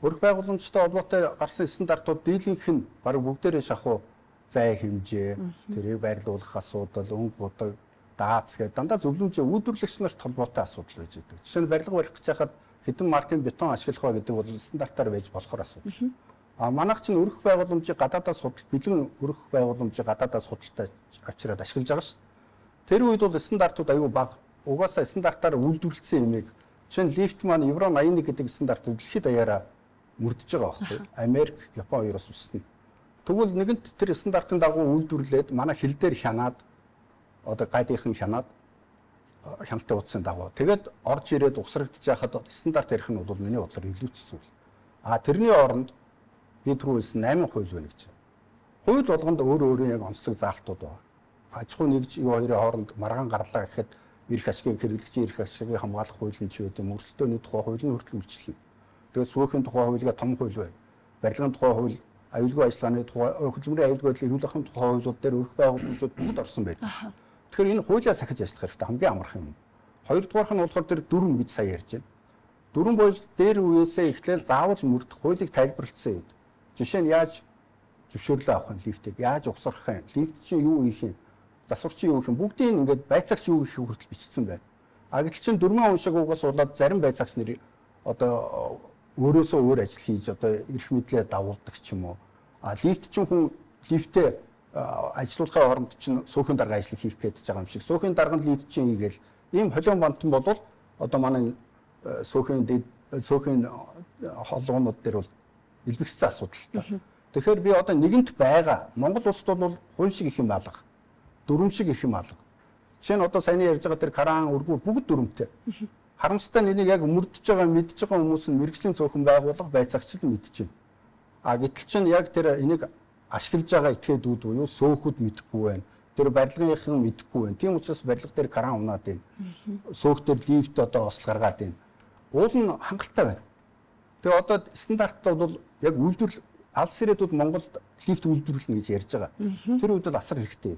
Өрх байгууламжтай холбоотой гарсан стандартууд дийлэнх нь бараг бүгдээрээ шахуу зай хэмжээ, тэрийг байрлуулах асуудал, өнгө будаг, даац гэдэг дандаа зөвлөмжийн үйлдвэрлэгч нарт холбоотой асуудал байж байгаа. Жишээ нь барилга барих гэж хахад хэдэн маркийн бетон ашиглах ба гэдэг бол стандартаар байж болохоор асуудал. Манайх чинь өрх байгууламжийг гадаадаас судал, бэлэн өрх байгууламжийг гадаадаас судалтай авчираад ашиглаж байгаа шүү дээ. Тэр үед бол стандартууд аюул бага. Угаасаа стандартаар үйлдвэрлэсэн юмыг жишээ нь лифт маань Евро 81 гэдэг стандарт дэлхийд даяараа мөрдөж байгаа байхгүй. Америк, Япон хоёроос устна. Тэгвэл нэгэнт тэр стандартын дагуу үйлдвэрлээд манай хил дээр хянаад одоо гайлынхан хянаад хяналттай утсан дагуу. Тэгээд орж ирээд усрагдчих яхад стандарт ярих нь бол миний бодлоор илүү зүйл. Тэрний оронд би түрүүс 8 хууль байна гэж. Хууль болгонд өөр яг онцлог заалтууд байна. Аж ахуй нэгж юу хоёрын хооронд маргаан гарлаа гэхэд эрх ашигын хэрэглэгчийн эрх ашигыг хамгаалах хууль нь ч байдаг. Мөрөлтөөний тухай хууль нь хүртэл үйлчлэнэ. Тэгээд сүүхийн тухай хуулига том хууль байна. Барилгын тухай хууль, аюулгүй ажиллагааны тухай, хөдөлмөрийн аюулгүй байдлыг эрүүл ахуйн тухай хуулиуд дээр өрх байгууламжууд бүгд орсон байдаг. Тэгэхээр энэ хуулиа сахиж ажиллах хэрэгтэй хамгийн амархан юм. Хоёрдугаарх нь болохоор тэр дүрм гэж сая ярьж байна. Дүрм бол дээр үеэсээ эхлээл заавал мөрдөх хуулийг тайлбарлалцсан юм. Жишээ нь яаж зөвшөөрлөө авах нь лифтийг, яаж угсрах юм, лифт чинь юу хийх юм, засвар чинь юу хийх юм, бүгдийг ингээд байцаагч юу хийхийг хүртэл бичсэн байна. Гэтэл чинь дөрмөн уншиг угаас болоод зарим байцаагч нар одоо өөрөөсөө өөр ажил хийж одоо эрх мэдлээ дагуулдаг ч юм уу. Лифт чинь хүн лифтээ ажлуулахын оронд чинь сөөхийн дарга ажил хийх гэж байгаа юм шиг. Сөөхийн дарга нь лифт чинь хийгээл ийм холион бантан болвол одоо манай сөөхийн холгоонууд дээр бол илбэгцсэн асуудалтай. Тэгэхээр би одоо нэгэнт байгаа Монгол улсад бол хууль шиг их юм алга. Дүрм шиг их юм алга. Жишээ нь одоо саяны ярьж байгаа тэр Каран өргүү бүгд дүрмтэй. Харамсалтай нь энийг яг мөрдөж байгаа мэдж байгаа хүмүүс нь мэрэгжлийн цөөхөн байгууллага байцаагчид мэдж байна. Гэтэл чинь яг тэр энийг ашиглаж байгаа этгээдүүд буюу сөөхүүд мэдэхгүй байна. Тэр барилгынхан мэдэхгүй байна. Тийм учраас барилга дээр Каран унаад байна. Сөөх дээр лифт одоо осол гаргаад байна. Уул нь хангалттай байна. Тэгээ одоо стандарт бол яг үйлдвэрлэл алс ирээдүйд Монголд лифт үйлдвэрлэнэ гэж ярьж байгаа. Тэр үед бол асар хэрэгтэй.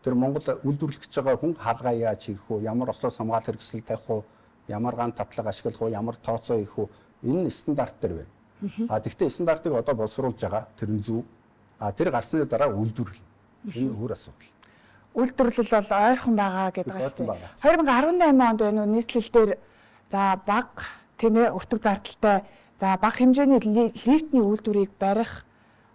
Тэр Монгол үйлдвэрлэж байгаа хүн хаалгаа яаж хийх вэ? Ямар ослоос хамгаалах хэрэгсэл тавих вэ? Ямар ган татлаг ашиглах вэ? Ямар тооцоо хийх вэ? Энэ стандарт дээр байна. Тэгвэл стандартыг одоо боловсруулж байгаа тэр нь зөв. Тэр гарсны дараа үйлдвэрлэл. Энэ өөр асуудал. Үйлдвэрлэл бол ойрхон байгаа гэдэг шүү дээ. 2018 онд байна уу нийслэл дээр за баг тийм ээ өртөг зардалтай за бага хэмжээний лифтний үйлдвэрийг барих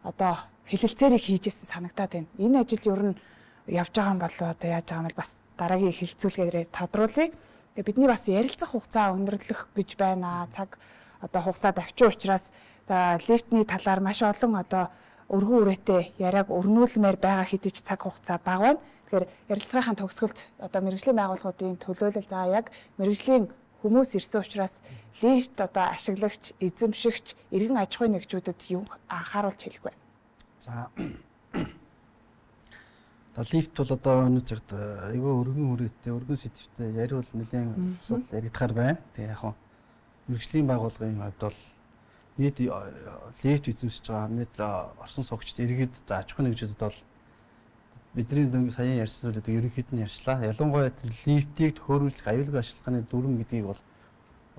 одоо хэлэлцээрийг хийжсэн санагдаад байна. Энэ ажил ер нь явж байгаа юм болоо одоо яаж байгаа юм бол бас дараагийн хэлэлцүүлгээр тодруулъя. Тэгээ бидний бас ярилцах хугацаа өндөрлөх гэж байна. Цаг одоо хугацаа давчин учраас за лифтний талаар маш олон одоо өргөн үрээтэй яриаг өрнүүлмээр байгаа хэдий ч цаг хугацаа бага байна. Тэгэхээр ярилцлагын төгсгөлд одоо мэргэжлийн байгууллагуудын төлөөлөл за яг мэргэжлийн хүмүүс ирсэн учраас лифт одоо ашиглагч, эзэмшигч, иргэн аж ахуйн нэгжүүдэд юу анхааруулж хэлэх вэ? За лифт бол одоо өнөө цагт айгүй өргөн үрээтэй, өргөн сэдвтэй яриул нэлээд асуудал яригдахаар байна. Тэгээ яг мэргэжлийн байгууллагын хувьд бол нийт лифт эзэмшиж байгаа нийт орсон суугчид иргэд за аж ахуйн нэгжүүдэд бол бидний саяхан ярьсан зүйл ерөнхийд нь ярьчлаа. Ялангуяа лифтийг төхөөрөмжлөх аюулгүй ашиглахны дүрм гэдгийг бол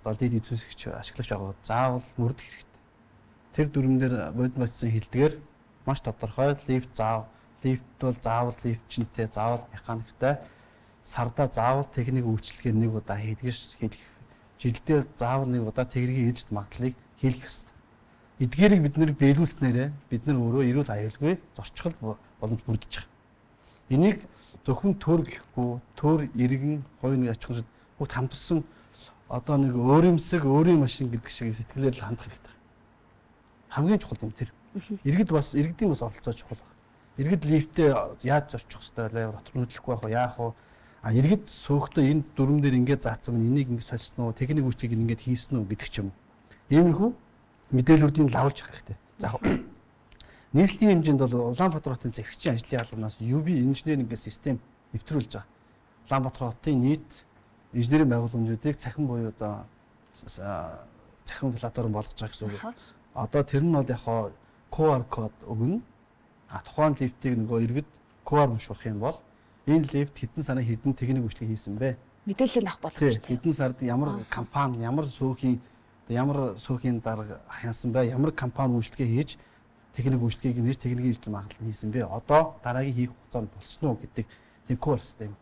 одоо лифт эзэмшигч ашиглагч байгууллагууд заавал мөрдөх хэрэгтэй. Тэр дүрмээр бодит батсан хэлдгээр маш тодорхой лифт бол заавал лифтчинтэй, заавал механиктай, сарда заавал техник үйлчлэгээ нэг удаа хийдгэж жилдээ заавал нэг удаа техникийн эжид магадлалыг хийх ёстой. Эдгээрийг бид нэр биелүүлснээрээ бид нар өөрөө эрүүл аюулгүй зорчгол боломж бүрдэж байгаа. Энийг зөвхөн төр гэхгүй, төр иргэн, хувийн аж ахуйн бүгд хамтарсан одоо нэг өөрөмсөг өөрийн машин гэдэг шиг сэтгэлээр л хандах хэрэгтэй. Хамгийн чухал юм тэр. Иргэдийн бас оролцоо чухал байна. Иргэд лифтээ яаж зорчих хэвээр вэ? Дотор нөтлөхгүй байх уу? Яах вэ? Иргэд сөөхтөө энэ дүрм дээр ингээд заасан нь энийг ингээд солисон уу? Техник үйлчлэгийг ингээд хийсэн үү гэдэг ч юм. Иймэрхүү мэдээллүүдийг лавлж авах хэрэгтэй. За нийслэлийн хэмжээнд бол Улаанбаатар хотын захирагчийн ажлын албанаас UB инженеринг гэх систем нэвтрүүлж байгаа. Улаанбаатар хотын нийт инженерийн байгууламжуудыг цахим буюу одоо цахим платформ болгож байгаа гэсэн үг. Одоо тэр нь бол яг QR код өгнө. Тухайн лифтийг нөгөө иргэд QR унших юм бол энэ лифт хэдэн сарын хэдэн техник үйлчлэг хийсэн бэ? Мэдээлэл авах болох шүү дээ. Хэдэн сард ямар компани, ямар сөөхийн дарга хянсан бэ? Ямар компани үйлчлэгээ хийж техник үйлчлэгийг нэр техникийн үйлчлэл магадлал хийсэн бэ? Одоо дараагийн хийх хугацаанд болсон уу гэдэг тийм QR систем.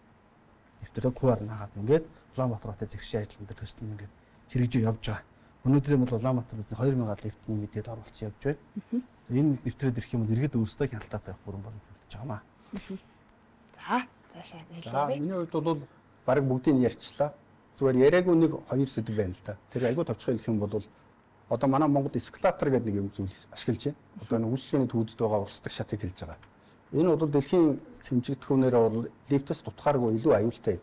Нэвтрүүлэг QR наагаад ингээд Улаанбаатар хотын захирагчийн ажлын дээр төсөл ингээд хэрэгжиж явж байгаа. Өнөөдөр бол Улаанбаатар хотын 2000 лифтний мэдээлэл оруулсан явж байна. Энэ нэвтрээд ирэх юм бол иргэд өөрсдөө хяналтаатай байх бүрэн боломжтой байгаа маа. За, цаашаа хэлээ. Миний хувьд бол баг бүгдийг ярьчлаа. Зүгээр яриаггүй нэг хоёр сэдв байна л да. Тэр айгүй товчхон хэлэх юм бол одоо манай Монгол эскалатор гэдэг нэг юм зүйл ашиглаж байна. Одоо нэг үйлчлэгээний төвөдд байгаа урсдаг шатыг хэлж байгаа. Энэ бол дэлхийн хэмжигдэхүүнээр бол лифтээс дутгааргүй илүү аюултай.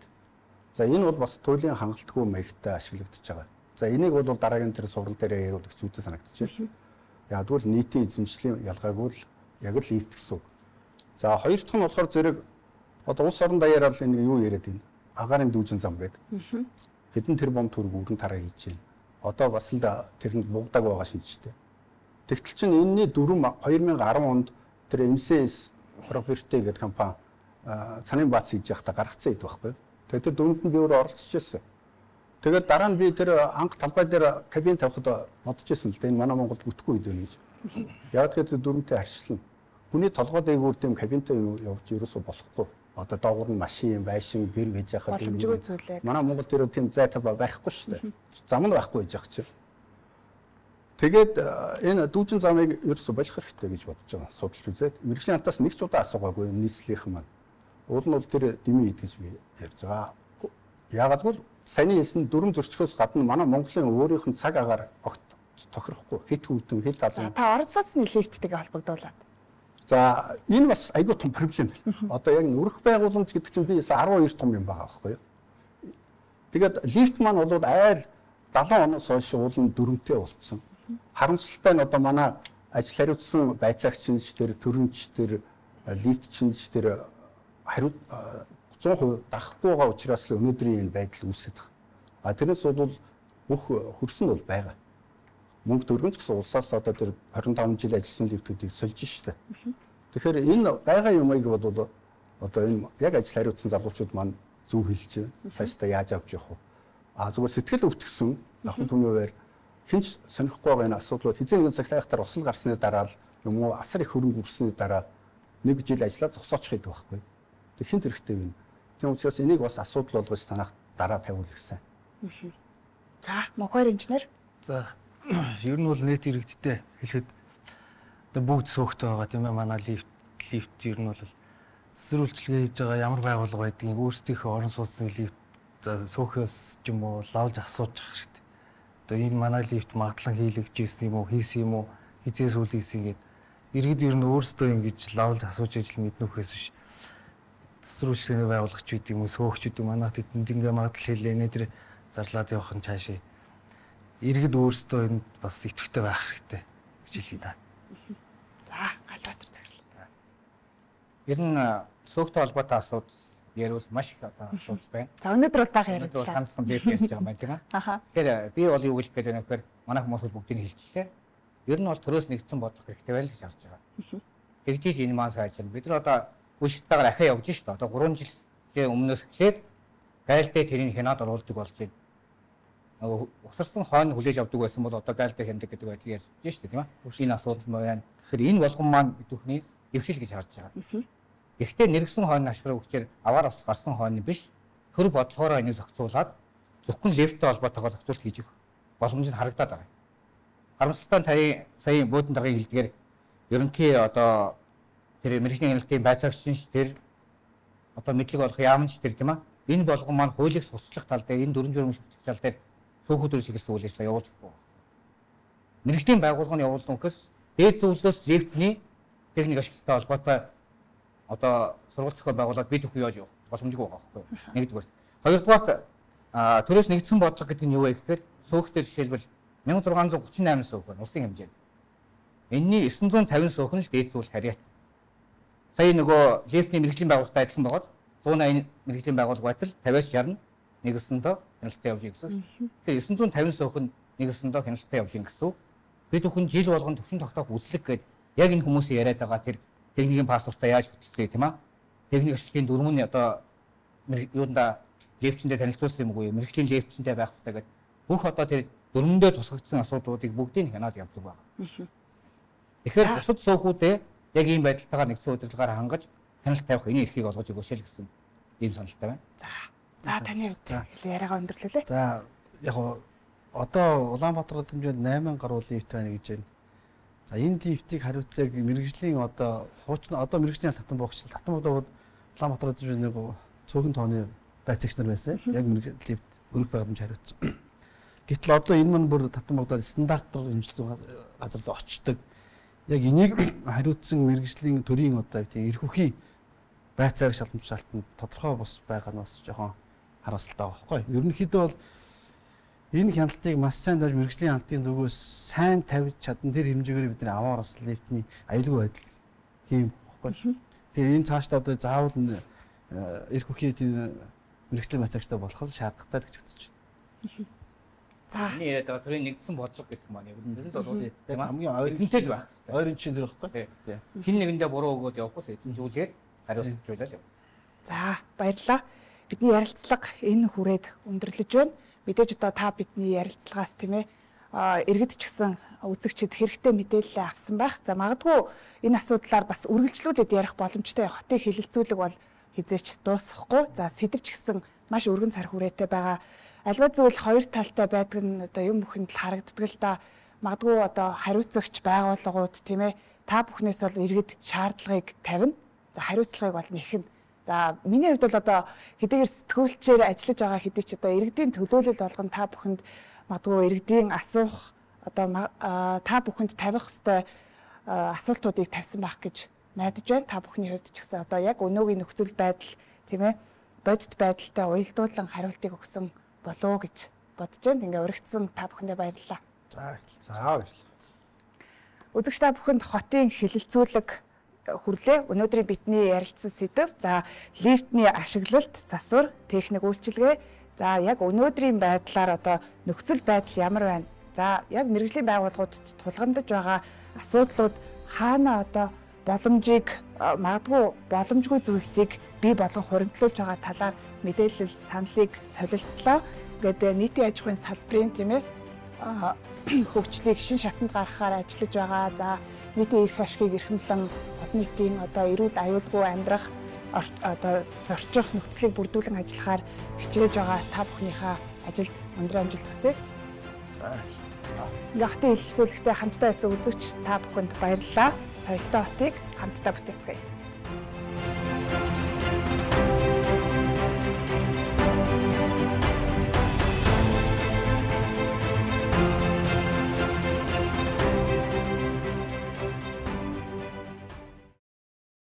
За энэ бол бас туйлын хангалтгүй маягтай ашиглагдаж байгаа. За энийг бол дараагийн тэр сургал дээр яриулах зүйтэй санагдаж байна. Яг бол нийтийн эзэмшлийн ялгаагүй л яг л лифт гэсэн үг. За хоёр дахь нь болохоор зэрэг одоо улс орон даяараа л энэ юу яриад байна. Агаарын дүүжин зам гэдэг. Хэдэн тэрбум төгрөг өргөн тараа хийж байна. Одоо бас л тэрэнд бугдаг байгаа шинжтэй. Тэгтэл чинь энэний дүрм 2010 онд тэр MCS Property гэдэг компани цанын бац хийж явахдаа гаргацсан ид байхгүй. Тэгээд тэр дүрмэнд би өөрөө оролцож байсан. Тэгээд дараа нь би тэр анх талбай дээр кабин тавихад бодож байсан л да энэ манай Монголд бүтэхгүй үед байна гэж. Яг тэгээд дүрмтэй харьцлана. Хүний толгой дээгүүр дэм кабинтай явж ерөөсөө болохгүй. Одоо доогуур нь машин, байшин, гэр гэж яхад манай Монгол тэр тийм зай талбай байхгүй шүү дээ. Зам нь байхгүй гэж яах чинь. Тэгээд энэ дүүжин замыг ерөөсөө болох хэрэгтэй гэж бодож байгаа. Судалж үзээд мэрэгжлийн хантаас нэг ч удаа асуугаагүй нийслэлийнхэн маань. Уул нь бол тэр дэмий гэж би ярьж байгаа. Яагаад гэвэл саяны хэлсэн дүрм зөрчгөөс гадна манай Монголын өөрийнх нь цаг агаар огт тохирохгүй. Хит хүүдэн, хит алан. Та орон сууцны лифттэйгээ холбогдуулаад. За энэ бас айгүй том проблем байна. Одоо яг өрх байгууламж гэдэг чинь би 12 том юм байгаа байхгүй юу. Тэгээд лифт маань бол айл 70 оноос хойш уулын дүрмтэй болцсон. Харамсалтай нь одоо манай ажил хариуцсан байцаагчч тэр төрөмч тэр лифт чинч тэр хариу 100% дахгүй байгаа учраас л өнөөдрийн энэ байдал үүсэж байгаа. А тэрнээс бол бүх хөрсөн бол байгаа. Мөнгө төгрөгч гэсэн улсаас одоо тэр 25 жил ажилласан лифтүүдийг сольж штэ. Тэгэхээр энэ байгаа юмыг бол одоо энэ яг ажил хариуцсан залуучууд маань зөв хэлж байна. Цаашдаа яаж авч явах вэ? А зүгээр сэтгэл өвтгсөн ахын түмнээр хинч сонихгүй байгаа энэ асуудлууд хэзээ нэгэн цаглаахтар осол гарсны дараа л юм уу асар их хөрөнгө үрсний дараа нэг жил ажиллаа зогсоочих гэдэг байхгүй. Тэг хинт хэрэгтэй юм. Тийм учраас энийг бас асуудал болгож танах дараа тавиул гэсэн. За, мохоор инженер. За, ер нь бол нийт иргэдтэй хэлэхэд бүгд сөөхтэй байгаа тийм ээ. Манай лифт ер нь бол цэцэр үйлчлэгээ хийж байгаа ямар байгууллага байдгийг өөрсдийнхөө орон сууцны лифт сөөхөөс ч юм уу лавлж асууж ах хэрэгтэй. Одоо энэ манай лифт магадлан хийлэгжсэн юм уу, хийсэн юм уу, хизээс үл хийсэн гэдэг иргэд ер нь өөрсдөө ингэж лавлж асууж ижил мэднөхөөс биш. Цэцэр үйлчлэгээний байгууллагч бид юм уу, сөөхчд юм манайх тэдэнд ингээ магадлал хэлээ тэр зарлаад явах нь цаашаа. Иргэд өөрсдөө энд бас идэвхтэй байх хэрэгтэй гэж хэлье да. За, Галбаатар захирлаа. Ер нь сөөхтэй холбоотой асуудал ярил маш их одоо асуудал байна. За, өнөөдөр бол бага яриад байна. Ганцхан лифт ярьж байгаа юм байна тийм ээ. Тэгэхээр би бол юу гэж гээд байна гэхээр манайх хүмүүс бүгдийг хэлчихлээ. Ер нь бол төрөөс нэгдсэн бодлого хэрэгтэй байл гэж харж байгаа. Тэгжиж энэ маань сайжрна. Бид нар одоо хүчтэйгээр ахаа явж шүү дээ. Одоо 3 жилийн өмнөөс эхлээд гайлтай тэрийг хянаад оруулдаг болж байна. Усарсан хойно хүлээж авдаг байсан бол одоо гайлтай хяндаг гэдэг байдлыг ярьж байна шүү дээ тийм ээ. Энэ асуудал маань. Тэгэхээр энэ болгон маань бидүүхний дэвшил гэж харж байгаа. Гэхдээ нэргсэн хойно ашиглах хүчээр аваар осол гарсан хойно биш төр бодлогоороо энийг зохицуулаад зөвхөн лифттэй холбоотойгоор зохицуулт хийж өгөх боломж нь харагдаад байгаа. Харамсалтай сая буудан даргын хэлдгээр ерөнхий одоо тэр мэрэгжлийн хяналтын байцаагчч тэр одоо мэдлэг олох яамч тэр тийм ээ. Энэ болгон маань хуулийг сурчлах тал дээр энэ 4 журмын шүтлэх тал дээр сүүхүүдээр чиглэсэн үйл ажиллагаа явуулж өгөх. Мэргэжлийн байгууллагын явуулсан гэхээс дээд зөвлөлөөс лифтний техник ашиглалттай холбоотой одоо сургалт зохиол байгуулаад бид бүхэн яаж явах боломжгүй байгаа байхгүй юу? Нэгдүгээр. Хоёрдугаарт төрөөс нэгдсэн бодлого гэдэг нь юу вэ гэхээр сөөхтөр жишээлбэл 1638 сөөх байна улсын хэмжээнд. Энэний 950 сөөх нь л дээд зөвлөлт харьяат. Сая нөгөө лифтний мэргэжлийн байгууллагатай адилхан байгаад 180 мэргэжлийн байгууллага байтал 50-аас 60 нэгсэндээ хяналттай явж гэсэн үг. Тэгэхээр 950 сөөх нь нэгсэндээ хяналттай явж гэсэн үг. Бид бүхэн жил болгон төвшин тогтоох үзлэг гэдэг яг энэ хүмүүсийн яриад байгаа тэр техникийн паспортаа яаж хөтлөе тийм аа. Техник ашиглалтын дөрвөн нь одоо юунда лифтчэндээ танилцуулсан юм уу? Мэргэжлийн лифтчэндээ байх хэрэгтэй гэдэг бүх одоо тэр дөрвөндөө тусгагдсан асуудлуудыг бүгдийг хянаад явдаг байна. Тэгэхээр бусад сөөхүүдээ яг ийм байдалтайгаар нэгдсэн удирдлагаар хангаж хяналт тавих энэ эрхийг олгож өгөөч л гэсэн ийм саналтай байна. За таны хувьд яриагаа өндөрлөлөө. За яг одоо Улаанбаатар хэмжээнд 8 гаруй лифт байна гэж байна. За энэ лифтийг хариуцаг мэргэжлийн одоо хуучин одоо мэргэжлийн татан богч татан богдоод Улаанбаатар хэмжээнд нэг цөөхөн тооны байцаагч нар байсан. Яг мэргэжлийн лифт өргөх байгууламж хариуцсан. Гэтэл одоо энэ мань бүр татан богдоод стандартаар хэмжлэн газар руу очдог. Яг энийг хариуцсан мэргэжлийн төрийн одоо тийм эрх үхий байцааг шалгамжлалтанд тодорхой бус байгаа нь бас жоохон харамсалтай байгаа байхгүй. Ерөнхийдөө бол энэ хяналтыг маш сайн даж мэргэжлийн хяналтын зүгээс сайн тавьж чадсан тэр хэмжээгээр бид нар аваар бас лифтний аюулгүй байдал хийм байхгүй. Тэгэхээр энэ цаашдаа одоо заавал эрх үхий тийм мэргэжлийн байцаагчтай болох шаардлагатай гэж үзэж байна. За энэ яриад байгаа төрийн нэгдсэн бодлого гэдэг маань ер нь зөвлөсөн хамгийн ойрынтэй л байх хэрэгтэй. Ойрын чинь тэр байхгүй. Хин нэгэндээ буруу өгөөд явахаас эзэмжүүлгээд хариуцуулаад явах. За баярлалаа. Бидний ярилцлага энэ хүрээд өндөрлөж байна. Мэдээж одоо та бидний ярилцлагаас тийм ээ иргэд ч гэсэн үзэгчид хэрэгтэй мэдээлэл авсан байх. За магадгүй энэ асуудлаар бас үргэлжлүүлээд ярих боломжтой хотын хилэлцүүлэг бол хизээч дуусахгүй. За сэдв ч гэсэн маш өргөн цар хүрээтэй байгаа. Альва зүйл хоёр талтай байдаг нь одоо юм бүхэнд л харагддаг л да. Магадгүй одоо хариуцагч байгууллагууд тийм ээ та бүхнээс бол иргэд шаардлагыг тавина. За хариуцлагыг бол нэхнэ. За миний хувьд бол одоо хэдийгээр сэтгүүлчээр ажиллаж байгаа хэдий ч одоо иргэдийн төлөөлөл болгон та бүхэнд магадгүй иргэдийн асуух одоо та бүхэнд тавих ёстой асуултуудыг тавьсан байх гэж найдаж байна. Та бүхний хувьд ч гэсэн одоо яг өнөөгийн нөхцөл байдал тийм ээ бодит байдалтай уялдуулан хариултыг өгсөн болоо гэж бодож байна. Ингээ уригдсан та бүхэндээ баярлалаа. За баярлалаа. Үзэгч та бүхэнд хотын хилэлцүүлэг хүрлээ. Өнөөдрийн бидний ярилцсан сэдэв. За лифтний ашиглалт, засвар, техник үйлчилгээ. За яг өнөөдрийн байдлаар одоо нөхцөл байдал ямар байна? За яг мэргэжлийн байгууллагуудад тулгамдж байгаа асуудлууд хаана одоо боломжийг магадгүй боломжгүй зүйлсийг бий болгон хуримтлуулж байгаа талаар мэдээлэл саналыг солилцлоо. Ингээд нийтийн аж ахуйн салбарын тийм ээ хөгжлийг шин шатанд гаргахаар ажиллаж байгаа. За нийтийн эрх ашгийг эрхэмлэн олон нийтийн одоо эрүүл аюулгүй амьдрах одоо зорчих нөхцөлийг бүрдүүлэн ажиллахаар хичээж байгаа та бүхнийхээ ажилд өндөр амжилт хүсье. Хотын хилэлцүүлэгтээ хамтдаа байсан үзэгч та бүхэнд баярлалаа. Соёлтой хотыг хамтдаа бүтээцгээе.